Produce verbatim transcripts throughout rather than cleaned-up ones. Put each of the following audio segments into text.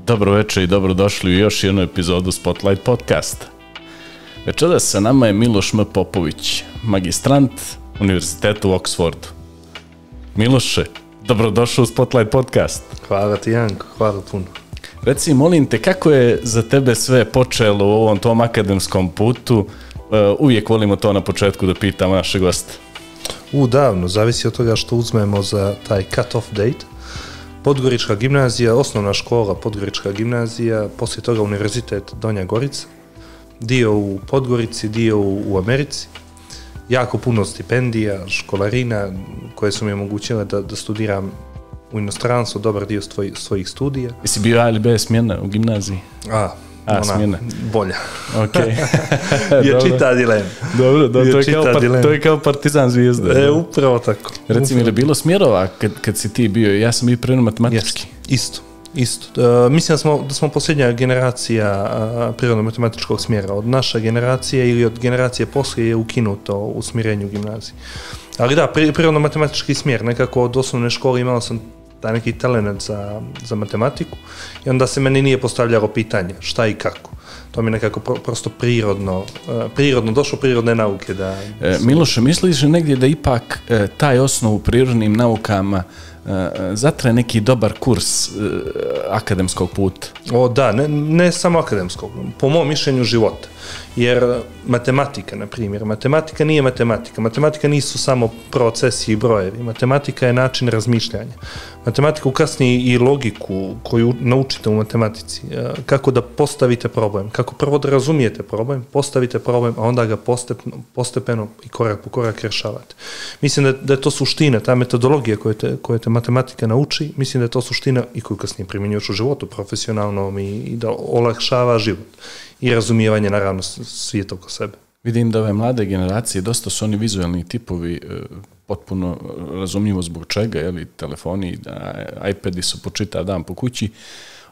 Dobro večer i dobrodošli u još jednu epizodu Spotlight podcasta. Večeras sa nama je Miloš M. Popović, magistrant Univerziteta u Oxfordu. Miloše, dobrodošao u Spotlight podcast. Hvala ti, Janko, hvala puno. Reci, molim te, kako je za tebe sve počelo u ovom tom akademskom putu? Uvijek volimo to na početku da pitamo naše goste. U, davno, zavisi od toga što uzmemo za taj cut-off date. Podgorička gimnazija, osnovna škola Podgorička gimnazija, poslije toga Univerzitet Donja Gorica, dio u Podgorici, dio u Americi, jako puno stipendija, školarina koje su mi omogućile da, da studiram u inostranstvu, dobar dio svoj, svojih studija. Jesi bio A ili B smjena u gimnaziji? A, A, ona, smjena. bolja. Ok. je čita dilema. Dobro, do, to, je kao par, to je kao Partizan Zvijezda. E, upravo tako. Reci mi, je li bilo smjerova kad, kad si ti bio? Ja sam bio prirodno matematički. Yes. Isto. Isto. Uh, mislim da smo, da smo posljednja generacija uh, prirodno-matematičkog smjera. Od naše generacije ili od generacije poslije je ukinuto u smjerenju gimnaziji. Ali da, pri, prirodno-matematički smjer. Nekako od osnovne škole imao sam taj neki talent za, za matematiku i onda se meni nije postavljalo pitanje šta i kako. To mi je nekako pro, prosto prirodno, uh, prirodno, došlo prirodne nauke. Da, da e, Miloše, misliš negdje da ipak e, taj osnov u prirodnim naukama zatre neki dobar kurs uh, akademskog puta? O da, ne, ne samo akademskog, po mom mišljenju života. Jer matematika, na primjer, matematika nije matematika. Matematika nisu samo procesi i brojevi. Matematika je način razmišljanja. Matematika ukasni i logiku koju naučite u matematici. Kako da postavite problem. Kako prvo da razumijete problem, postavite problem, a onda ga postepeno, postepeno i korak po korak rješavate. Mislim da, da je to suština, ta metodologija koju te, koju te matematika nauči, mislim da je to suština i koju kasnije primjenjuješ u životu, profesionalnom i, i da olakšava život. I razumijevanje, naravno, svijeta oko sebe. Vidim da ove mlade generacije, dosta su oni vizualni tipovi, potpuno razumljivo zbog čega, jeli, telefoni, iPadi su po čitav dan po kući.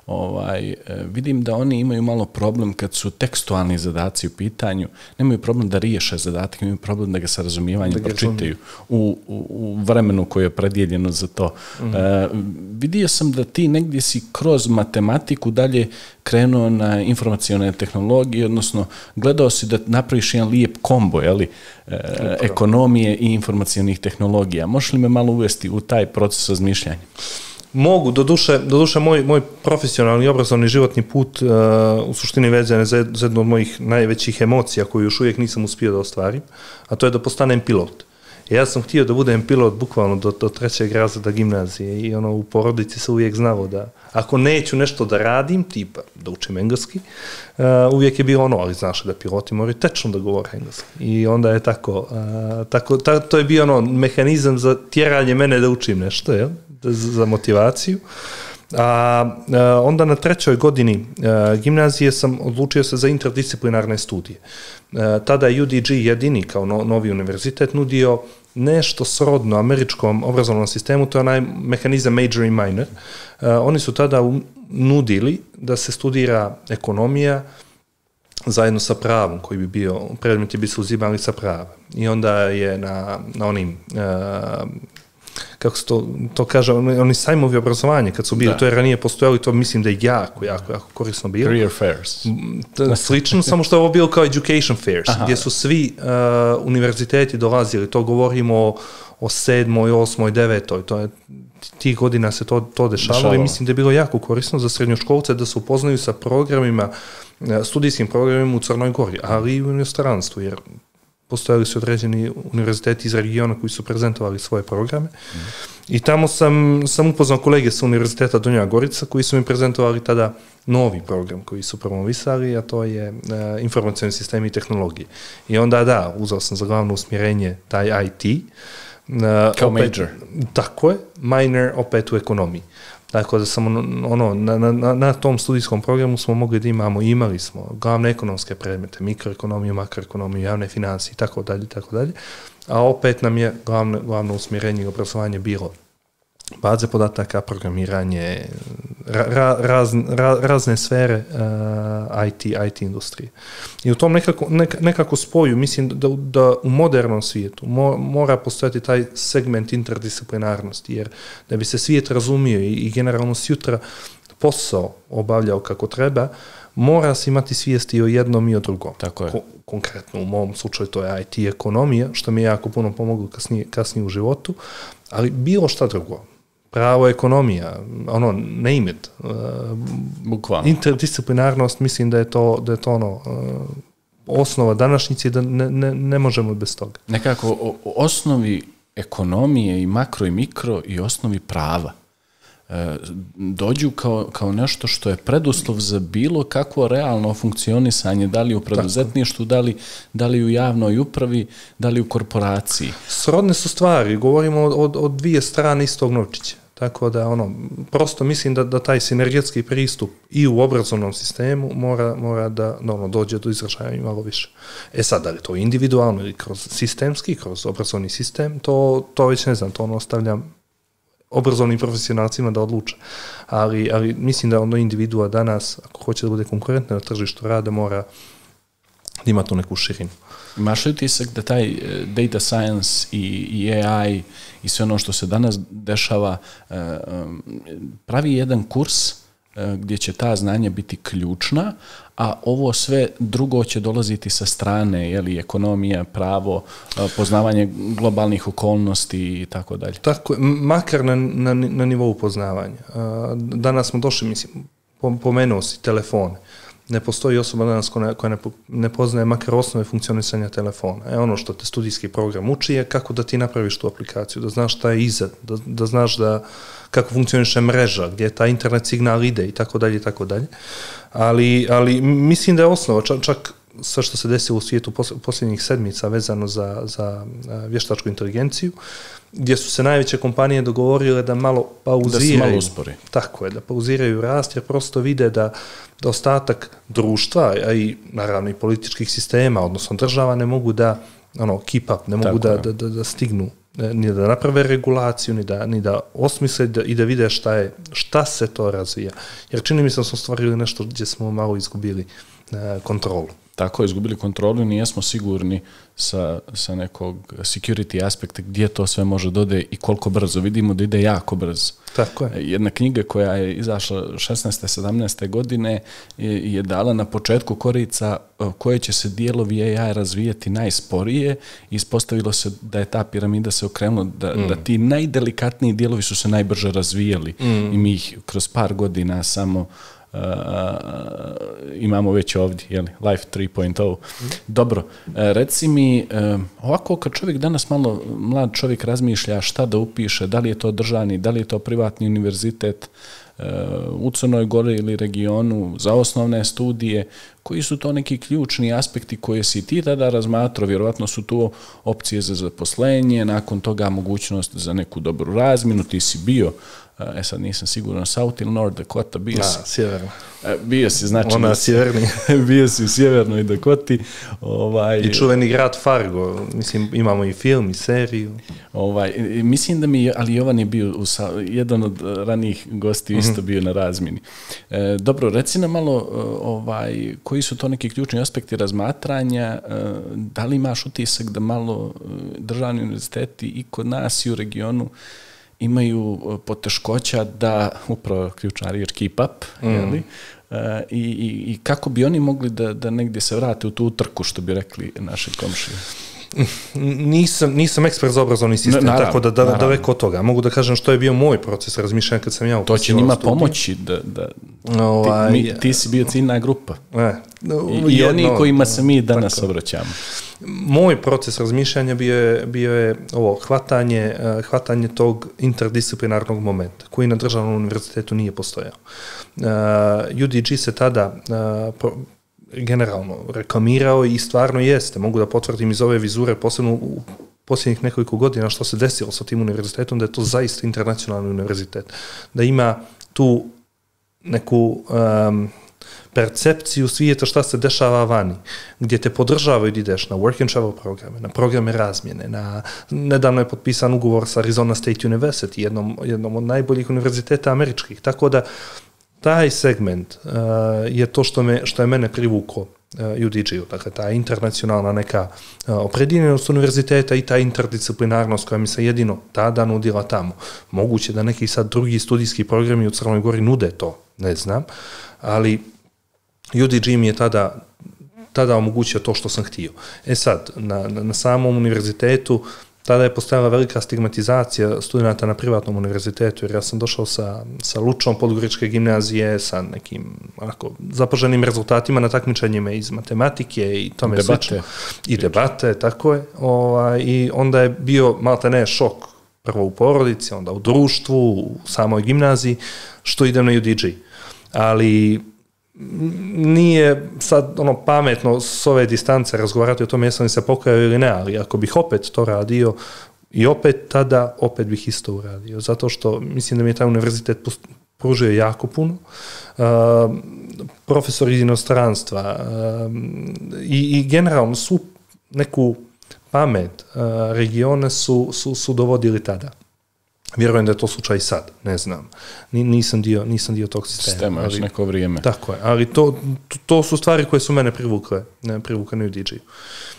Ovaj, vidim da oni imaju malo problem kad su tekstualni zadaci u pitanju, nemaju problem da riješe zadatak, imaju problem da ga sa razumijevanjem pročitaju u, u, u vremenu koje je predijeljeno za to. Mm-hmm. E, vidio sam da ti negdje si kroz matematiku dalje krenuo na informacione tehnologije, odnosno gledao si da napraviš jedan lijep kombo, jeli, e, ekonomije i informacionih tehnologija. Možeš li me malo uvesti u taj proces razmišljanja? Mogu, doduše, doduše moj, moj profesionalni i obrazovni životni put uh, u suštini vezan je za, za jednu od mojih najvećih emocija koju još uvijek nisam uspio da ostvarim, a to je da postanem pilot. Ja sam htio da budem pilot bukvalno do, do trećeg razreda gimnazije i ono u porodici se uvijek znalo da ako neću nešto da radim, tipa da učim engleski, uh, uvijek je bilo ono, ali znaš da piloti moraju tečno da govore engleski. I onda je tako, uh, tako ta, to je bio ono mehanizam za tjeranje mene da učim nešto, jel? Za motivaciju. A, a onda na trećoj godini a, gimnazije sam odlučio se za interdisciplinarne studije. A, tada je U D G jedini kao no, novi univerzitet nudio nešto srodno američkom obrazovnom sistemu, to je onaj mehanizam major i minor. A, oni su tada u, nudili da se studira ekonomija zajedno sa pravom, koji bi bio, predmeti bi se uzimali sa prava. I onda je na, na onim a, kako se to, to kaže, oni, oni sajmovi obrazovanje, kad su bili, da. To je ranije postojalo i to mislim da je jako, jako, jako korisno bilo. Career fairs. Slično, samo što je ovo bilo kao education fairs, aha, gdje su svi uh, univerziteti dolazili, to govorimo o, o sedmoj, osmoj, devetoj, to je, tih godina se to, to dešavalo, dešavalo i mislim da je bilo jako korisno za srednjoškolce da se upoznaju sa programima, studijskim programima u Crnoj Gori, ali i u inostranstvu, jer postojali su određeni univerziteti iz regiona koji su prezentovali svoje programe. Mm. I tamo sam, sam upoznao kolege sa Univerziteta Donja Gorica koji su mi prezentovali tada novi program koji su promovisali, a to je uh, informacioni sistemi i tehnologije. I onda da, uzeo sam za glavno usmjerenje taj I T. Uh, Kao opet, major. Tako je, minor opet u ekonomiji. Tako da sam ono, na, na, na tom studijskom programu smo mogli da imamo, imali smo glavne ekonomske predmete, mikroekonomiju, makroekonomiju, javne financije i tako dalje, tako dalje. A opet nam je glavno, glavno usmjerenje i obrazovanje bilo baze podataka, programiranje, ra, raz, ra, razne sfere uh, I T, I T industrije. I u tom nekako, nek, nekako spoju, mislim da, da u modernom svijetu mo, mora postojati taj segment interdisciplinarnosti, jer da bi se svijet razumio i, i generalno sjutra posao obavljao kako treba, mora se imati svijesti o jednom i o drugom. Tako je. Ko- konkretno u mom slučaju to je I T ekonomija, što mi je jako puno pomoglo kasnije, kasnije u životu, ali bilo šta drugo. Pravo ekonomija, ono, name it. Uh, Bukvalno. Interdisciplinarnost, mislim da je to, da je to ono, uh, osnova današnjice, da ne, ne, ne možemo bez toga. Nekako o, o osnovi ekonomije i makro i mikro i osnovi prava e, dođu kao, kao nešto što je preduslov za bilo kakvo realno funkcionisanje, da li u preduzetništvu, da li, da li u javnoj upravi, da li u korporaciji. Srodne su stvari, govorimo od, od dvije strane istog novčića. Tako da, ono, prosto mislim da, da taj sinergetski pristup i u obrazovnom sistemu mora, mora da ono, dođe do izražaja i malo više. E sad, da li to individualno ili kroz sistemski, kroz obrazovni sistem, to, to već ne znam, to ono ostavljam obrazovnim profesionalcima da odluče. Ali, ali mislim da ono individua danas, ako hoće da bude konkurentna na tržištu rada, mora da ima tu neku širinu. Imaš li utisak da taj data science i, i A I i sve ono što se danas dešava pravi jedan kurs gdje će ta znanja biti ključna, a ovo sve drugo će dolaziti sa strane, jeli, ekonomija, pravo, poznavanje globalnih okolnosti i tako dalje. Tako je, makar na, na, na nivou poznavanja. Danas smo došli, mislim, pomenuo si telefone. Ne postoji osoba danas koja ne, koja ne, ne poznaje makar osnove funkcionisanja telefona. E, ono što te studijski program uči je kako da ti napraviš tu aplikaciju, da znaš šta je iza, da, da znaš da kako funkcioniše mreža, gdje ta internet signal ide i tako dalje i tako dalje. Ali, ali mislim da je osnova, čak, čak sve što se desilo u svijetu posljednjih sedmica vezano za, za vještačku inteligenciju, gdje su se najveće kompanije dogovorile da malo pauziraju. Da se malo uspori. Tako je, da pauziraju rast, jer prosto vide da, da ostatak društva, a i naravno i političkih sistema, odnosno država, ne mogu da ono, keep up, ne mogu da, da, da, da stignu, ni da naprave regulaciju, ni da, ni da osmisle da, i da vide šta je, šta se to razvija. Jer čini mi se da smo stvarili nešto gdje smo malo izgubili e, kontrolu. Tako je, izgubili kontrolu i nijesmo sigurni sa, sa nekog security aspekta gdje to sve može dode i koliko brzo. Vidimo da ide jako brzo. Tako je. Jedna knjiga koja je izašla šesnaeste sedamnaeste godine je, je dala na početku korica koje će se dijelovi A I razvijati najsporije i ispostavilo se da je ta piramida se okrenula, da, mm. da ti najdelikatniji dijelovi su se najbrže razvijali mm. i mi ih kroz par godina samo Uh, imamo već ovdje, jeli, Life tri točka nula. Mm. Dobro, uh, reci mi, uh, ovako kad čovjek danas malo, mlad čovjek razmišlja šta da upiše, da li je to državni, da li je to privatni univerzitet uh, u Crnoj Gori ili regionu za osnovne studije, koji su to neki ključni aspekti koje si ti tada razmatrao, vjerovatno su tu opcije za zaposlenje, nakon toga mogućnost za neku dobru razminu, ti si bio, e sad nisam siguran, South ili North Dakota, bio si. Da, sjeverno. Bio si, znači... Ona sjeverni. Bio si u sjevernoj Dakoti. Ovaj, I čuveni grad Fargo, mislim, imamo i film i seriju. Ovaj, mislim da mi, ali Jovan je bio, u, jedan od ranijih gosti mm-hmm. isto bio na razmini. E, dobro, reci nam malo, ovaj, koji su to neki ključni aspekti razmatranja, da li imaš utisak da malo državni univerziteti i kod nas i u regionu imaju poteškoća da, upravo ključna riječ, keep up, mm. jeli? Uh, i, i, i kako bi oni mogli da, da negdje se vrate u tu utrku, što bi rekli naši komšije? Nisam, nisam ekspert za obrazovni sistem, naravno, tako da, da, da daleko od toga. Mogu da kažem što je bio moj proces razmišljanja kad sam ja upisao. To će njima studiju. Pomoći da, da ovaj, ti, mi, ti si bio ciljna grupa. E, I, I oni kojima se mi danas tako obraćamo. Moj proces razmišljanja bio je, bio je ovo, hvatanje, hvatanje tog interdisciplinarnog momenta, koji na državnom univerzitetu nije postojao. Uh, U D G se tada uh, pro, generalno reklamirao i stvarno jeste, mogu da potvrdim iz ove vizure, posebno u posljednjih nekoliko godina što se desilo sa tim univerzitetom, da je to zaista internacionalni univerzitet. Da ima tu neku um, percepciju svijeta šta se dešava vani, gdje te podržavaju da ideš na work and travel programe, na programe razmjene, na, nedavno je potpisan ugovor sa Arizona State University, jednom, jednom od najboljih univerziteta američkih, tako da taj segment uh, je to što, me, što je mene privuklo uh, U D G-u, dakle ta internacionalna neka uh, opredjeljenost univerziteta i ta interdisciplinarnost koja mi se jedino tada nudila tamo. Moguće da neki sad drugi studijski programi u Crnoj Gori nude to, ne znam, ali U D G mi je tada, tada omogućio to što sam htio. E sad, na, na, na samom univerzitetu tada je postojala velika stigmatizacija studenta na privatnom univerzitetu, jer ja sam došao sa, sa Lučom podgoričke gimnazije, sa nekim onako, zapaženim rezultatima na takmičenjima iz matematike i tome slično. I debate, tako je. Ovaj, I onda je bio malte ne šok, prvo u porodici, onda u društvu, u samoj gimnaziji, što idem na U D G. Ali nije sad ono pametno s ove distance razgovarati o tome jesam li se pokajao ili ne, ali ako bih opet to radio i opet tada, opet bih isto uradio. Zato što mislim da mi je taj univerzitet pružio jako puno. Uh, profesor iz inostranstva uh, i, i generalno svu neku pamet uh, regione su, su, su dovodili tada. Vjerujem da je to slučaj i sad, ne znam. Nisam dio, nisam dio tog sistema. Sistema, još neko vrijeme. Tako je, ali to, to su stvari koje su mene privukle, ne, privukle na U D G. I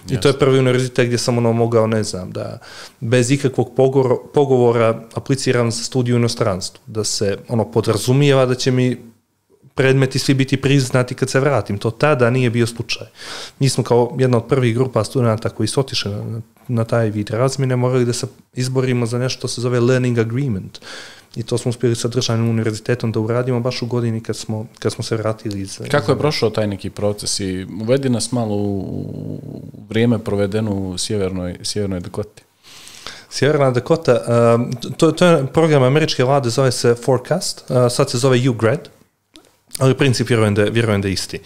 yes. To je prvi univerzitet gdje sam ono mogao, ne znam, da bez ikakvog pogovora, pogovora apliciram za studiju u inostranstvu, da se ono podrazumijeva da će mi predmeti svi biti priznati kad se vratim. To tada nije bio slučaj. Mi smo kao jedna od prvih grupa studenta koji su otišli na, na taj vid razmjene morali da se izborimo za nešto što se zove learning agreement. I to smo uspjeli sa državnim univerzitetom da uradimo baš u godini kad smo, kad smo se vratili iz... Kako je prošao taj neki proces i uvedi nas malo u vrijeme provedeno u sjevernoj, sjevernoj Dakoti? Sjeverna Dakota, uh, to, to je program američke vlade, zove se Forecast, uh, sad se zove U grad. Ali princip vjerujem da, vjerujem da je isti.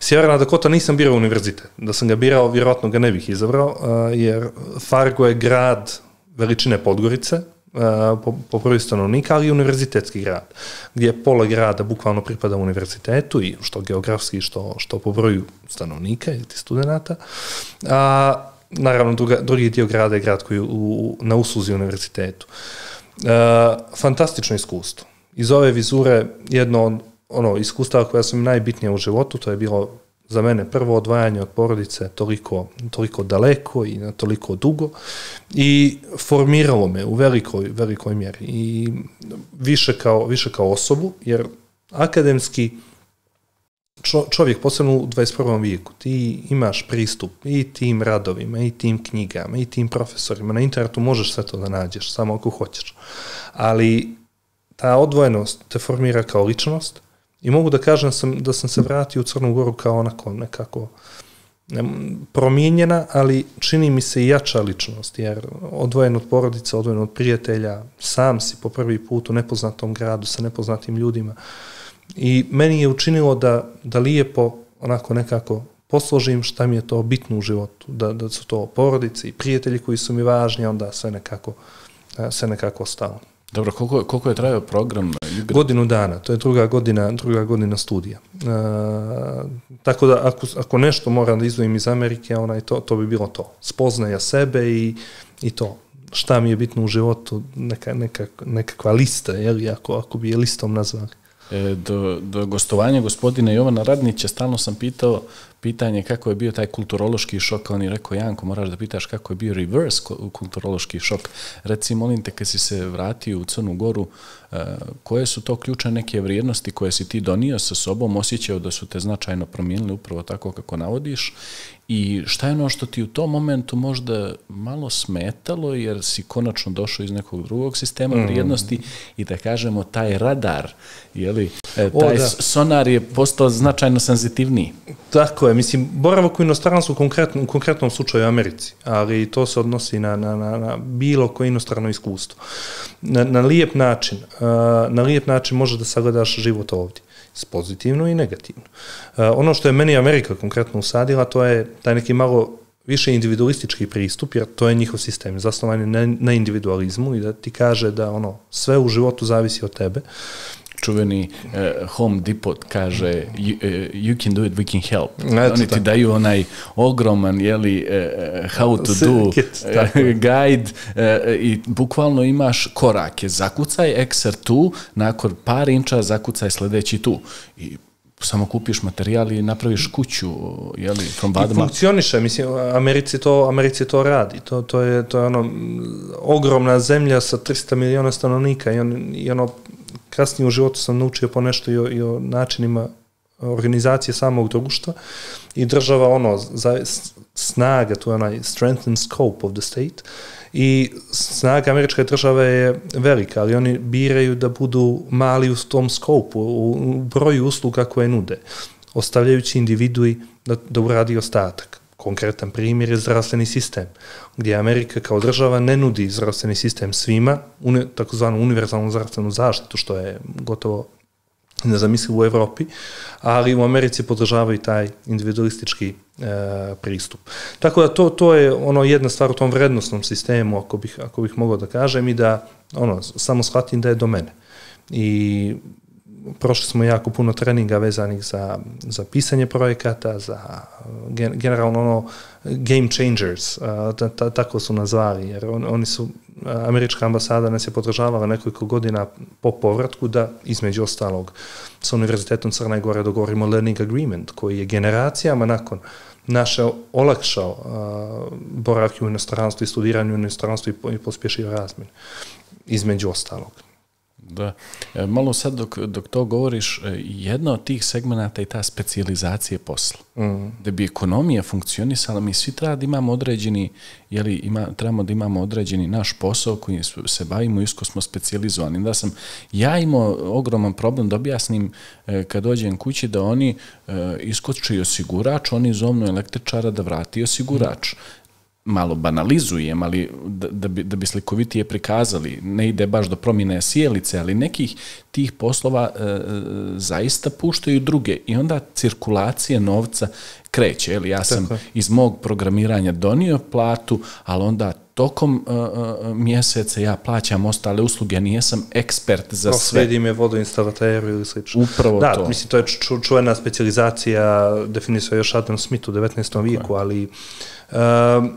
Sjeverna Dakota nisam birao univerzitet. Da sam ga birao, vjerojatno ga ne bih izabrao, jer Fargo je grad veličine Podgorice, po, po broju stanovnika, ali i univerzitetski grad, gdje pola grada bukvalno pripada univerzitetu, i što geografski, što, što po broju stanovnika ili studenata. A, naravno, druga, drugi dio grada je grad koji je u, na usluzi univerzitetu. A, fantastično iskustvo. Iz ove vizure jedno od ono iskustava koja su mi najbitnija u životu, to je bilo za mene prvo odvajanje od porodice toliko, toliko daleko i na toliko dugo i formiralo me u velikoj, velikoj mjeri i više kao, više kao osobu, jer akademski čo, čovjek, posebno u dvadeset prvom vijeku, ti imaš pristup i tim radovima, i tim knjigama, i tim profesorima, na internetu možeš sve to da nađeš, samo ako hoćeš. Ali ta odvojenost te formira kao ličnost. I mogu da kažem sam, da sam se vratio u Crnu Goru kao onako nekako ne, promijenjena, ali čini mi se i jača ličnost, jer odvojen od porodice, odvojen od prijatelja, sam si po prvi put u nepoznatom gradu sa nepoznatim ljudima. I meni je učinilo da, da lijepo onako nekako posložim šta mi je to bitno u životu, da, da su to porodice i prijatelji koji su mi važni, onda sve nekako, sve nekako ostalo. Dobro, koliko, koliko je trajao program? Godinu dana, to je druga godina, druga godina studija. E, tako da ako, ako nešto moram da izdvojim iz Amerike, onaj, to, to bi bilo to. Spoznaja sebe i, i to. Šta mi je bitno u životu, neka, neka, nekakva lista, jel, ako, ako bi je listom nazvali. E, do, do gostovanja gospodina Jovana Radnića stalno sam pitao pitanje kako je bio taj kulturološki šok, on je rekao, Janko, moraš da pitaš kako je bio reverse kulturološki šok. Reci, molim te, kad si se vratio u Crnu Goru, koje su to ključne neke vrijednosti koje si ti donio sa sobom, osjećao da su te značajno promijenili upravo tako kako navodiš, i šta je ono što ti u tom momentu možda malo smetalo, jer si konačno došao iz nekog drugog sistema mm. vrijednosti i da kažemo taj radar, jeli, taj o, sonar je postao značajno senzitivniji. Tako je, mislim, boravak u inostranstvu u konkretnom, konkretnom slučaju u Americi, ali to se odnosi na, na, na, na bilo koje inostrano iskustvo. Na, na lijep način, uh, na lijep način možeš da sagledaš život ovdje, pozitivno i negativno. Uh, ono što je meni Amerika konkretno usadila, to je taj neki malo više individualistički pristup, jer to je njihov sistem, zasnovan je na, na individualizmu i da ti kaže da ono sve u životu zavisi od tebe. Čuveni uh, Home Depot kaže you, uh, you can do it, we can help. Eto, oni ti tako daju onaj ogroman, jeli, uh, how to do uh, guide uh, i bukvalno imaš korake. Zakucaj ekser tu, nakon par inča zakucaj sljedeći tu. I samo kupiš materijal i napraviš kuću, jeli, from bottom up. I funkcioniše, mislim, Americi to, Americi to radi. To, to, je, to je ono ogromna zemlja sa tristo miliona stanovnika i, on, i ono kasnije u životu sam naučio po nešto i o, i o načinima organizacije samog društva i država ono, za, snaga, to je onaj strength and scope of the state i snaga američke države je velika, ali oni biraju da budu mali u tom skopu, u broju usluga koje nude, ostavljajući individui da, da uradi ostatak. Konkretan primjer je zdravstveni sistem, gdje Amerika kao država ne nudi zdravstveni sistem svima, uni, takozvanu univerzalnu zdravstvenu zaštitu, što je gotovo nezamislivo u Evropi, ali u Americi podržavaju taj individualistički e, pristup. Tako da to, to je ono jedna stvar u tom vrednostnom sistemu, ako bih, ako bih mogao da kažem, i da ono, samo shvatim da je do mene. I prošli smo jako puno treninga vezanih za, za pisanje projekata, za generalno ono game changers, ta, ta, tako su nazvali, jer on, oni su, američka ambasada nas je podržavala nekoliko godina po povratku da, između ostalog, sa Univerzitetom Crne Gore dogovorimo Learning Agreement, koji je generacijama nakon naše olakšao uh, boravke u inostranstvu i studiranju u inostranstvu i, i pospješio razmjenu, između ostalog. Da. E, malo sad dok, dok to govoriš, jedna od tih segmenata je ta specijalizacija posla. Mm. Da bi ekonomija funkcionisala, mi svi treba da imamo određeni, jeli, ima, trebamo da imamo određeni naš posao koji se bavimo, isko smo specijalizovani. Da sam ja imao ogroman problem da objasnim e, kad dođem kući da oni e, iskoči osigurač, oni zovnu električara da vrati osigurač. Mm. Malo banalizujem, ali da, da, bi, da bi slikovitije prikazali, ne ide baš do promjene sjelice, ali nekih tih poslova e, zaista puštaju druge i onda cirkulacija novca kreće. Eli, ja sam Tako. iz mog programiranja donio platu, ali onda tokom uh, mjeseca ja plaćam ostale usluge, nijesam ekspert za no, sve. Slijedim je vodoinstalateru ili slično. Upravo da, to. Da, mislim, to je ču, čuvena specijalizacija, definisao još Adam Smith u devetnaestom vijeku, ali uh,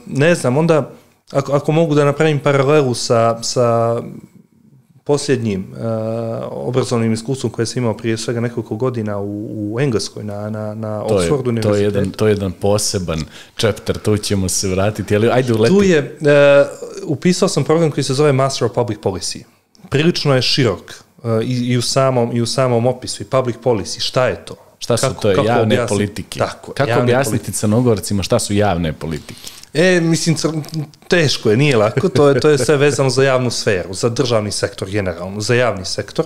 ne znam, onda, ako, ako mogu da napravim paralelu sa, sa posljednjim uh, obrazovnim iskustvom koje sam imao prije svega nekoliko godina u, u Engleskoj na, na, na Oxford univerzitetu. To je, jedan, to je jedan poseban chapter, tu ćemo se vratiti, ali ajde uleti. Tu je, uh, upisao sam program koji se zove Master of Public Policy. Prilično je širok uh, i, i, u samom, i u samom opisu, i public policy, šta je to? Šta su kako, to je, kako javne objasniti? politike? Tako, kako javne objasniti politike. Crnogorcima šta su javne politike? E, mislim, teško je, nije lako, to je, to je sve vezano za javnu sferu, za državni sektor generalno, za javni sektor.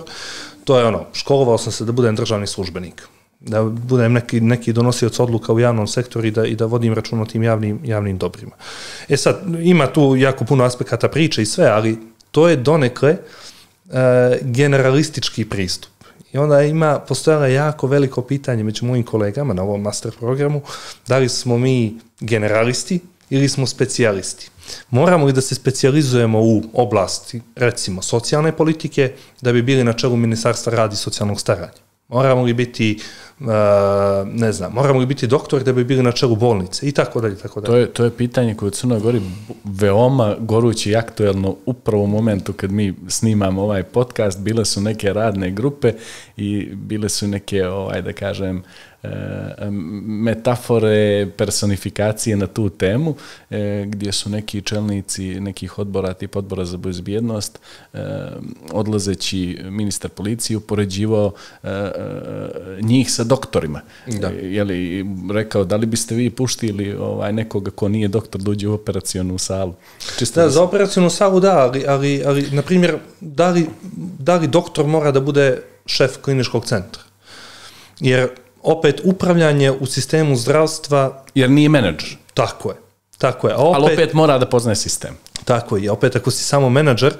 To je ono, školovao sam se da budem državni službenik, da budem neki, neki donosioc odluka u javnom sektoru i da, i da vodim račun o tim javnim, javnim dobrima. E sad, ima tu jako puno aspekata priče i sve, ali to je donekle e, generalistički pristup. I onda ima, postojalo jako veliko pitanje među mojim kolegama na ovom master programu, da li smo mi generalisti ili smo specijalisti. Moramo li da se specijalizujemo u oblasti, recimo, socijalne politike, da bi bili na čelu Ministarstva rada i socijalnog staranja? Moramo li biti, uh, ne znam, moramo li biti doktor da bi bili na čelu bolnice i tako dalje, tako dalje. To je, to je pitanje koje u Crnoj Gori veoma goruće i aktuelno upravo u momentu kad mi snimamo ovaj podcast. Bile su neke radne grupe i bile su neke, ovaj, da kažem, metafore, personifikacije na tu temu, gdje su neki čelnici nekih odbora, tip odbora za bezbjednost, odlazeći ministar policije upoređivao njih sa doktorima. Da. Je li rekao, da li biste vi puštili ovaj, nekoga ko nije doktor da uđe u operacionu salu? Čisto da, za operacionu salu da, ali, ali, ali na primjer, da li, da li doktor mora da bude šef kliničkog centra? Jer opet upravljanje u sistemu zdravstva... Jer nije menadžer. Tako je. Tako je. A opet, ali opet mora da poznaje sistem. Tako je. Opet ako si samo menadžer,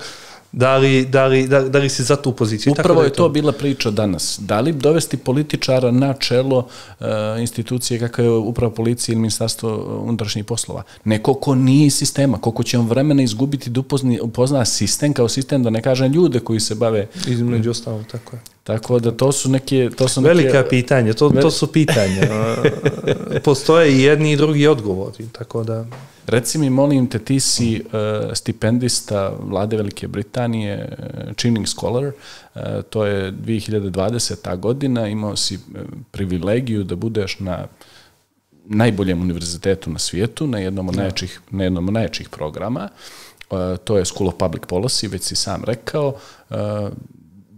da li, da li, da, da li si za tu poziciju? Upravo tako da je to, to bila priča danas. Da li dovesti političara na čelo uh, institucije kakva je upravo policija ili ministarstvo unutrašnjih poslova? Neko ko nije iz sistema, koliko će on vremena izgubiti da upozni, upozna sistem kao sistem, da ne kažem ljude koji se bave... Između ostalo, tako je. Tako da to su neke... To su velika neke, pitanja, to, to su pitanja. Postoje i jedni i drugi odgovori, tako da... Reci mi, molim te, ti si uh, stipendista Vlade Velike Britanije, uh, Chinning Scholar, uh, to je dvije hiljade dvadeseta godina, imao si uh, privilegiju da budeš na najboljem univerzitetu na svijetu, na jednom od najjačih, na jednom od najjačih programa, uh, to je School of Public Policy, već si sam rekao, uh,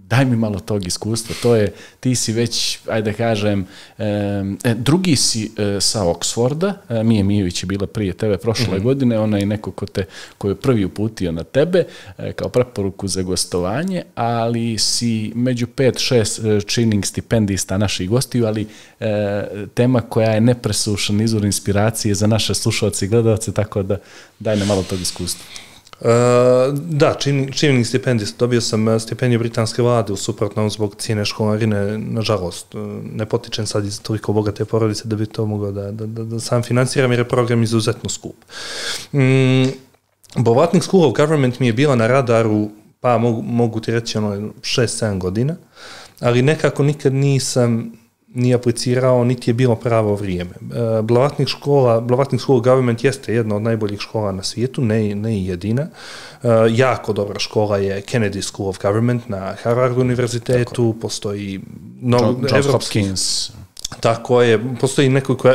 daj mi malo tog iskustva, to je, ti si već, ajde da kažem, e, drugi si e, sa Oxforda, e, Mije Mijović je bila prije tebe prošle mm-hmm. godine, ona je neko ko, te, ko je prvi uputio na tebe e, kao preporuku za gostovanje, ali si među pet, šest e, činning stipendista naših gostiju, ali e, tema koja je nepresušan izvor inspiracije za naše slušalce i gledalce, tako da daj nam malo tog iskustva. Uh, da, činjenik stipendist. Dobio sam stipendiju britanske vlade u suprotnom zbog cijene školarine, nažalost. Ne potičem sad iz toliko bogate porodice da bi to mogao da, da, da, da sam financiram jer je program izuzetno skup. Mm, Blavatnik School of Government mi je bila na radaru, pa mogu, mogu ti reći ono šest sedam godina, ali nekako nikad nisam ni aplicirao, niti je bilo pravo vrijeme. Blavatnik škola, Blavatnik School of Government jeste jedna od najboljih škola na svijetu, ne, ne i jedina. Jako dobra škola je Kennedy School of Government na Harvard univerzitetu, tako. Postoji no, Johns Hopkins. Tako je, postoji nekoliko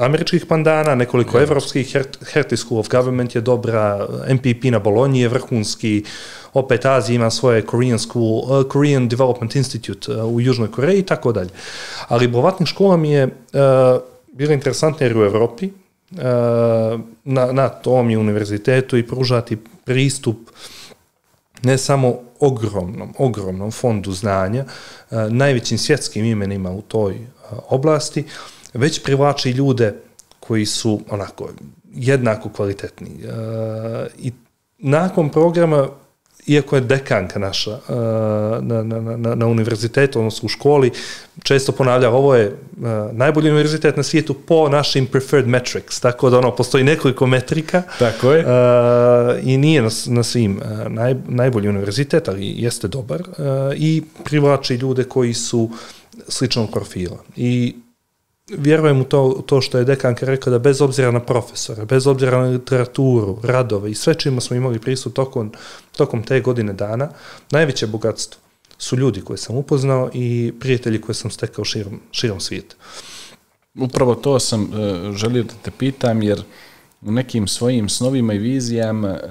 američkih pandana, nekoliko evropskih, Hertie School of Government je dobra, M P P na Bolonji je vrhunski, opet Azija ima svoje Korean School, uh, Korean Development Institute uh, u Južnoj Koreji i tako dalje. Ali Blavatnik škola mi je uh, bila interesantna jer u Evropi, uh, na, na tom je univerzitetu i pružati pristup ne samo ogromnom, ogromnom fondu znanja, uh, najvećim svjetskim imenima u toj uh, oblasti, već privlači ljude koji su onako jednako kvalitetni. Uh, I nakon programa, iako je dekanka naša uh, na, na, na, na univerzitetu, odnosno u školi, često ponavlja, ovo je uh, najbolji univerzitet na svijetu po našim preferred metrics, tako da ono, postoji nekoliko metrika. Tako je. Uh, I nije na, na svim uh, naj, najbolji univerzitet, ali jeste dobar uh, i privlači ljude koji su sličnog profila. I vjerujem u to, to što je dekanka rekla da bez obzira na profesora, bez obzira na literaturu, radove i sve čima smo imali pristup tokom, tokom te godine dana, najveće bogatstvo su ljudi koje sam upoznao i prijatelji koje sam stekao širom, širom svijeta. Upravo to sam uh, želio da te pitam, jer u nekim svojim snovima i vizijama uh,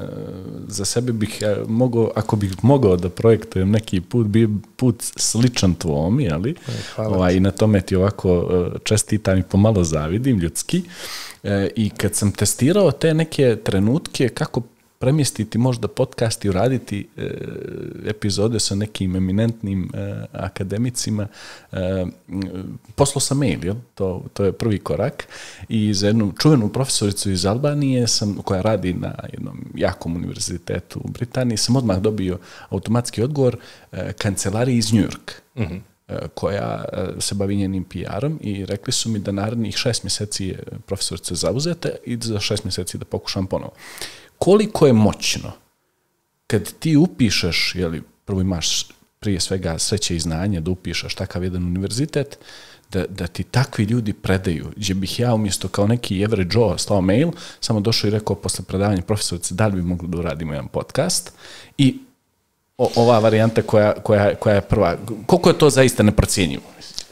za sebe bih uh, mogao, ako bih mogao da projektujem neki put, bi put sličan tvom, jeli? Ovaj, i na tome ti ovako uh, čestitam i pomalo zavidim ljudski. Uh, I kad sam testirao te neke trenutke, kako premjestiti možda podcast i uraditi e, epizode sa nekim eminentnim e, akademicima, e, poslao sam mail, jel? To, to je prvi korak, i za jednu čuvenu profesoricu iz Albanije sam, koja radi na jednom jakom univerzitetu u Britaniji, sam odmah dobio automatski odgovor e, kancelariji iz New York, mm-hmm. e, koja se bavi njenim P R-om, i rekli su mi da narednih šest mjeseci je profesorica zauzeta i za šest mjeseci da pokušam ponovo. Koliko je moćno kad ti upišeš, jeli, prvo imaš prije svega sreće i znanje da upišeš takav jedan univerzitet, da, da ti takvi ljudi predaju, gdje bih ja umjesto kao neki average Joe slao mail, samo došao i rekao posle predavanja profesorice da li bi mogli da uradimo jedan podcast, i o, ova varijanta koja, koja, koja je prva, koliko je to zaista neprocjenjivo?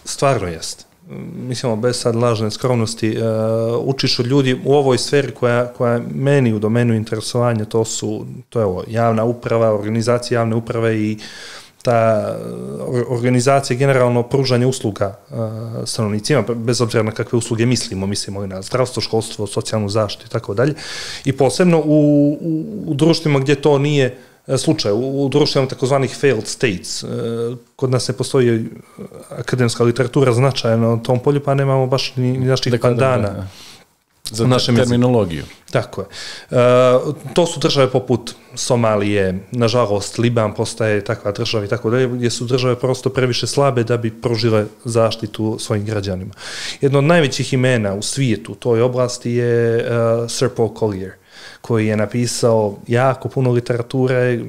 Stvarno jest. Mislimo, bez sad lažne skromnosti, uh, učiš od ljudi u ovoj sferi koja, koja je meni u domenu interesovanja, to su, to je ovo, javna uprava, organizacija javne uprave i ta organizacija generalno pružanje usluga uh, stanovnicima, bez obzira na kakve usluge mislimo, mislimo i na zdravstvo, školstvo, socijalnu zaštitu i tako dalje. I posebno u, u, u društvima gdje to nije slučaj, u, u društvima takozvanih failed states. Kod nas ne postoji akademska literatura značajna na tom polju, pa nemamo baš ni, ni naših pandana. Za našem terminologiju. Tako je. E, to su države poput Somalije, nažalost Liban postaje takva država i tako dalje, gdje su države prosto previše slabe da bi pružile zaštitu svojim građanima. Jedno od najvećih imena u svijetu u toj oblasti je uh, Sir Paul Collier, koji je napisao jako puno literature,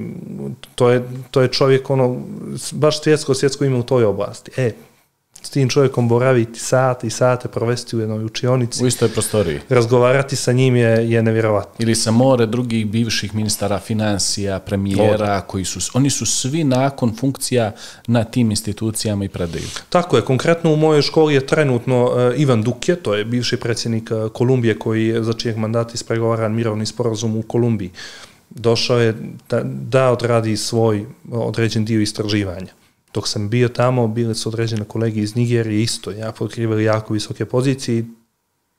to je, to je čovjek, ono, baš svjetsko, svjetsko ime u toj oblasti. E, s tim čovjekom boraviti sate i sate, provesti u jednoj učionici. U istoj prostoriji. Razgovarati sa njim je, je nevjerovatno. Ili sa more drugih bivših ministara financija, premijera, Od. koji su, oni su svi nakon funkcija na tim institucijama i predaju. Tako je, konkretno u mojoj školi je trenutno uh, Ivan Duque, to je bivši predsjednik uh, Kolumbije, koji je za čijeg mandata ispregovaran mirovni sporazum u Kolumbiji. Došao je da, da odradi svoj određen dio istraživanja. Dok sam bio tamo, bili su određene kolege iz Nigerije isto, ja otkrivali jako visoke pozicije,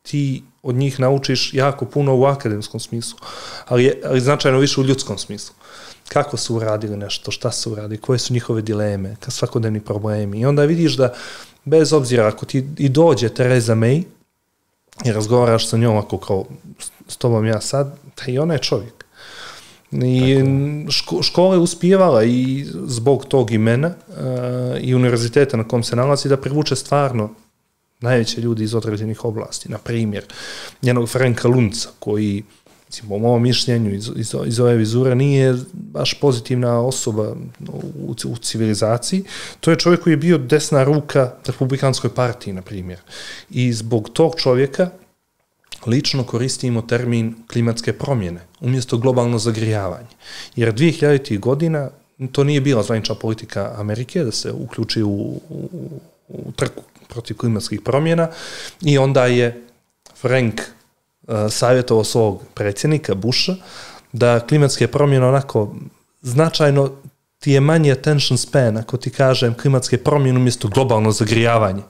ti od njih naučiš jako puno u akademskom smislu, ali, ali značajno više u ljudskom smislu. Kako su uradili nešto, šta su uradili, koje su njihove dileme, svakodnevni problemi. I onda vidiš da, bez obzira, ako ti i dođe Theresa May i razgovaraš sa njom ako kao s tobom ja sad, da i ona je čovjek. I ško, škola je uspijevala i zbog tog imena uh, i univerziteta na kom se nalazi da privuče stvarno najveće ljudi iz određenih oblasti. Na primjer, njenog Franka Lunca, koji, po mojom mišljenju iz, iz, iz ove vizure, nije baš pozitivna osoba u, u civilizaciji. To je čovjek koji je bio desna ruka Republikanskoj partiji, na primjer. I zbog tog čovjeka lično koristimo termin klimatske promjene umjesto globalno zagrijavanje. Jer dvije hiljaditih godina to nije bila zvanična politika Amerike da se uključi u, u, u trku protiv klimatskih promjena i onda je Frank uh, savjetovao svog predsjednika Busha da klimatske promjene onako značajno ti je manji attention span ako ti kažem klimatske promjene umjesto globalno zagrijavanje.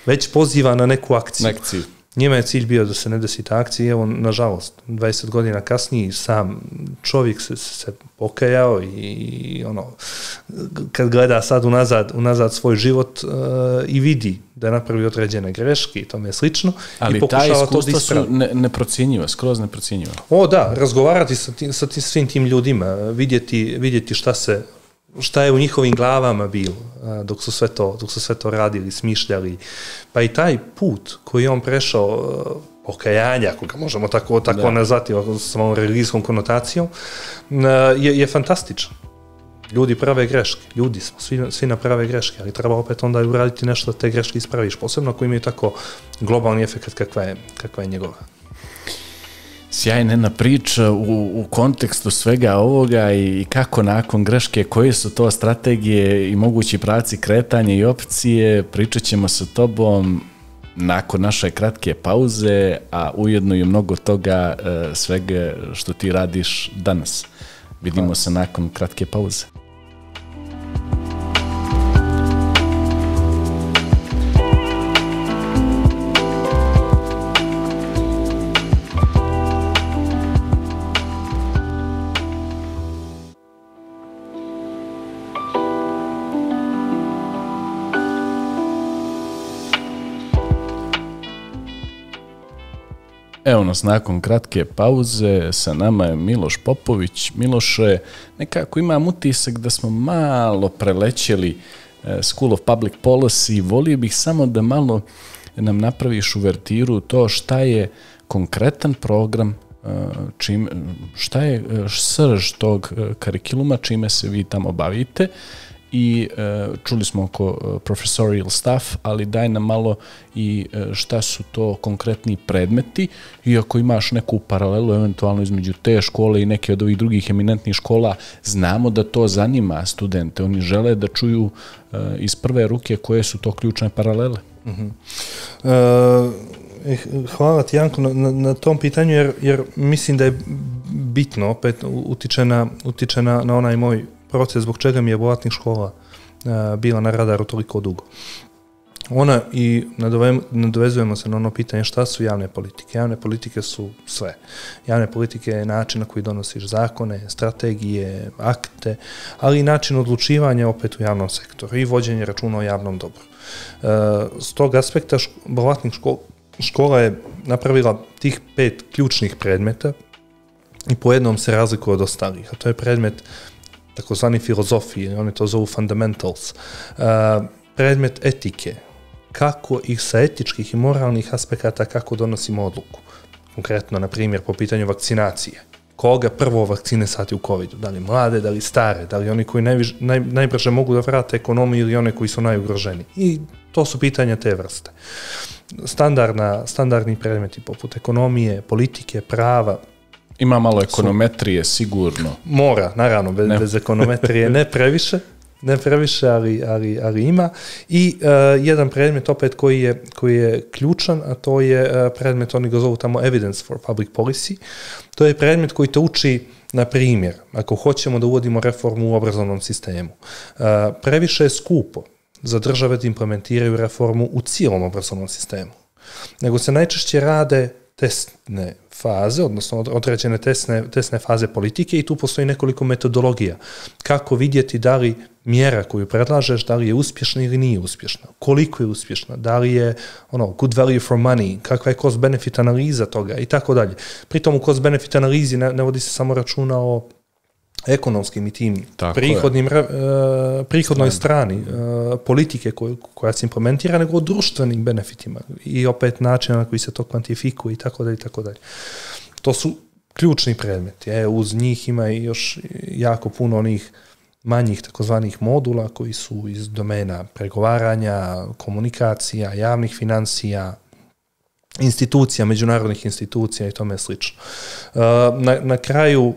Već poziva na neku akciju. Akciju. Njima je cilj bio da se ne desi ta akcija i evo, nažalost, dvadeset godina kasnije sam čovjek se, se pokajao i, i ono, kad gleda sad unazad, unazad svoj život uh, i vidi da je napravio određene greške i tome slično. Ali i ta iskustva su ne, neprocjenjiva, skroz neprocjenjiva. O da, razgovarati sa, tim, sa tim, svim tim ljudima, vidjeti, vidjeti šta se šta je u njihovim glavama bilo dok su sve to, dok su sve to radili, smišljali. Pa i taj put koji je on prešao pokajanja, ako ga možemo tako, tako nazvati sa ovom religijskom konotacijom, je, je fantastičan. Ljudi prave greške, ljudi smo, svi, svi naprave greške, ali treba opet onda uraditi nešto da te greške ispraviš, posebno ako imaju tako globalni efekt kakva je, kakva je njegova. Sjajna jedna priča u, u kontekstu svega ovoga i kako nakon greške, koje su to strategije i mogući pravci kretanja i opcije, pričat ćemo sa tobom nakon naše kratke pauze, a ujedno i mnogo toga svega što ti radiš danas. Vidimo se nakon kratke pauze. Evo nas nakon kratke pauze, sa nama je Miloš Popović. Miloše, nekako imam utisak da smo malo prelećeli School of Public Policy. Volio bih samo da malo nam napraviš uvertiru to šta je konkretan program, čim, šta je srž tog kurikuluma, čime se vi tamo bavite. I e, čuli smo oko professorial staff, ali daj nam malo i e, šta su to konkretni predmeti i ako imaš neku paralelu eventualno između te škole i neke od ovih drugih eminentnih škola, znamo da to zanima studente, oni žele da čuju e, iz prve ruke koje su to ključne paralele. Mm-hmm. e, hvala ti Janko na, na, na tom pitanju jer, jer mislim da je bitno, opet utiče na, utiče na, na onaj moj proces zbog čega mi je Bolatnik škola uh, bila na radaru toliko dugo. Ona i nadovezujemo se na ono pitanje šta su javne politike. Javne politike su sve. Javne politike je način na koji donosiš zakone, strategije, akte, ali i način odlučivanja opet u javnom sektoru i vođenje računa o javnom dobru. Uh, s tog aspekta Bolatnik škola, škola je napravila tih pet ključnih predmeta i po jednom se razlikuje od ostalih, a to je predmet takozvani filozofije, oni to zovu fundamentals, uh, predmet etike, kako ih sa etičkih i moralnih aspekata, kako donosimo odluku. Konkretno, na primjer, po pitanju vakcinacije. Koga prvo vakcinisati u covidu? Da li mlade, da li stare, da li oni koji najviž, naj, najbrže mogu da vrate ekonomiju ili one koji su najugroženi? I to su pitanja te vrste. Standardna, standardni predmeti poput ekonomije, politike, prava. Ima malo ekonometrije, sigurno. Mora, naravno, bez, bez ekonometrije ne previše, ne previše, ali, ali, ali ima. I uh, jedan predmet opet koji je, koji je ključan, a to je uh, predmet, oni ga zovu tamo Evidence for Public Policy. To je predmet koji te uči, na primjer, ako hoćemo da uvodimo reformu u obrazovnom sistemu. Uh, previše je skupo za države da implementiraju reformu u cijelom obrazovnom sistemu. Nego se najčešće rade testne faze, odnosno određene testne, testne faze politike i tu postoji nekoliko metodologija. Kako vidjeti da li mjera koju predlažeš, da li je uspješna ili nije uspješna, koliko je uspješna, da li je ono, good value for money, kakva je cost-benefit analiza toga i tako dalje. Pritom u cost-benefit analizi ne, ne vodi se samo računa o ekonomskim i tim prihodnim, uh, prihodnoj strani uh, politike koju, koja se implementira, nego o društvenim benefitima i opet načina na koji se to kvantifikuje i tako dalje i tako dalje. To su ključni predmeti. E, uz njih ima i još jako puno onih manjih takozvanih modula koji su iz domena pregovaranja, komunikacija, javnih financija, institucija, međunarodnih institucija i tome slično. Uh, na, na kraju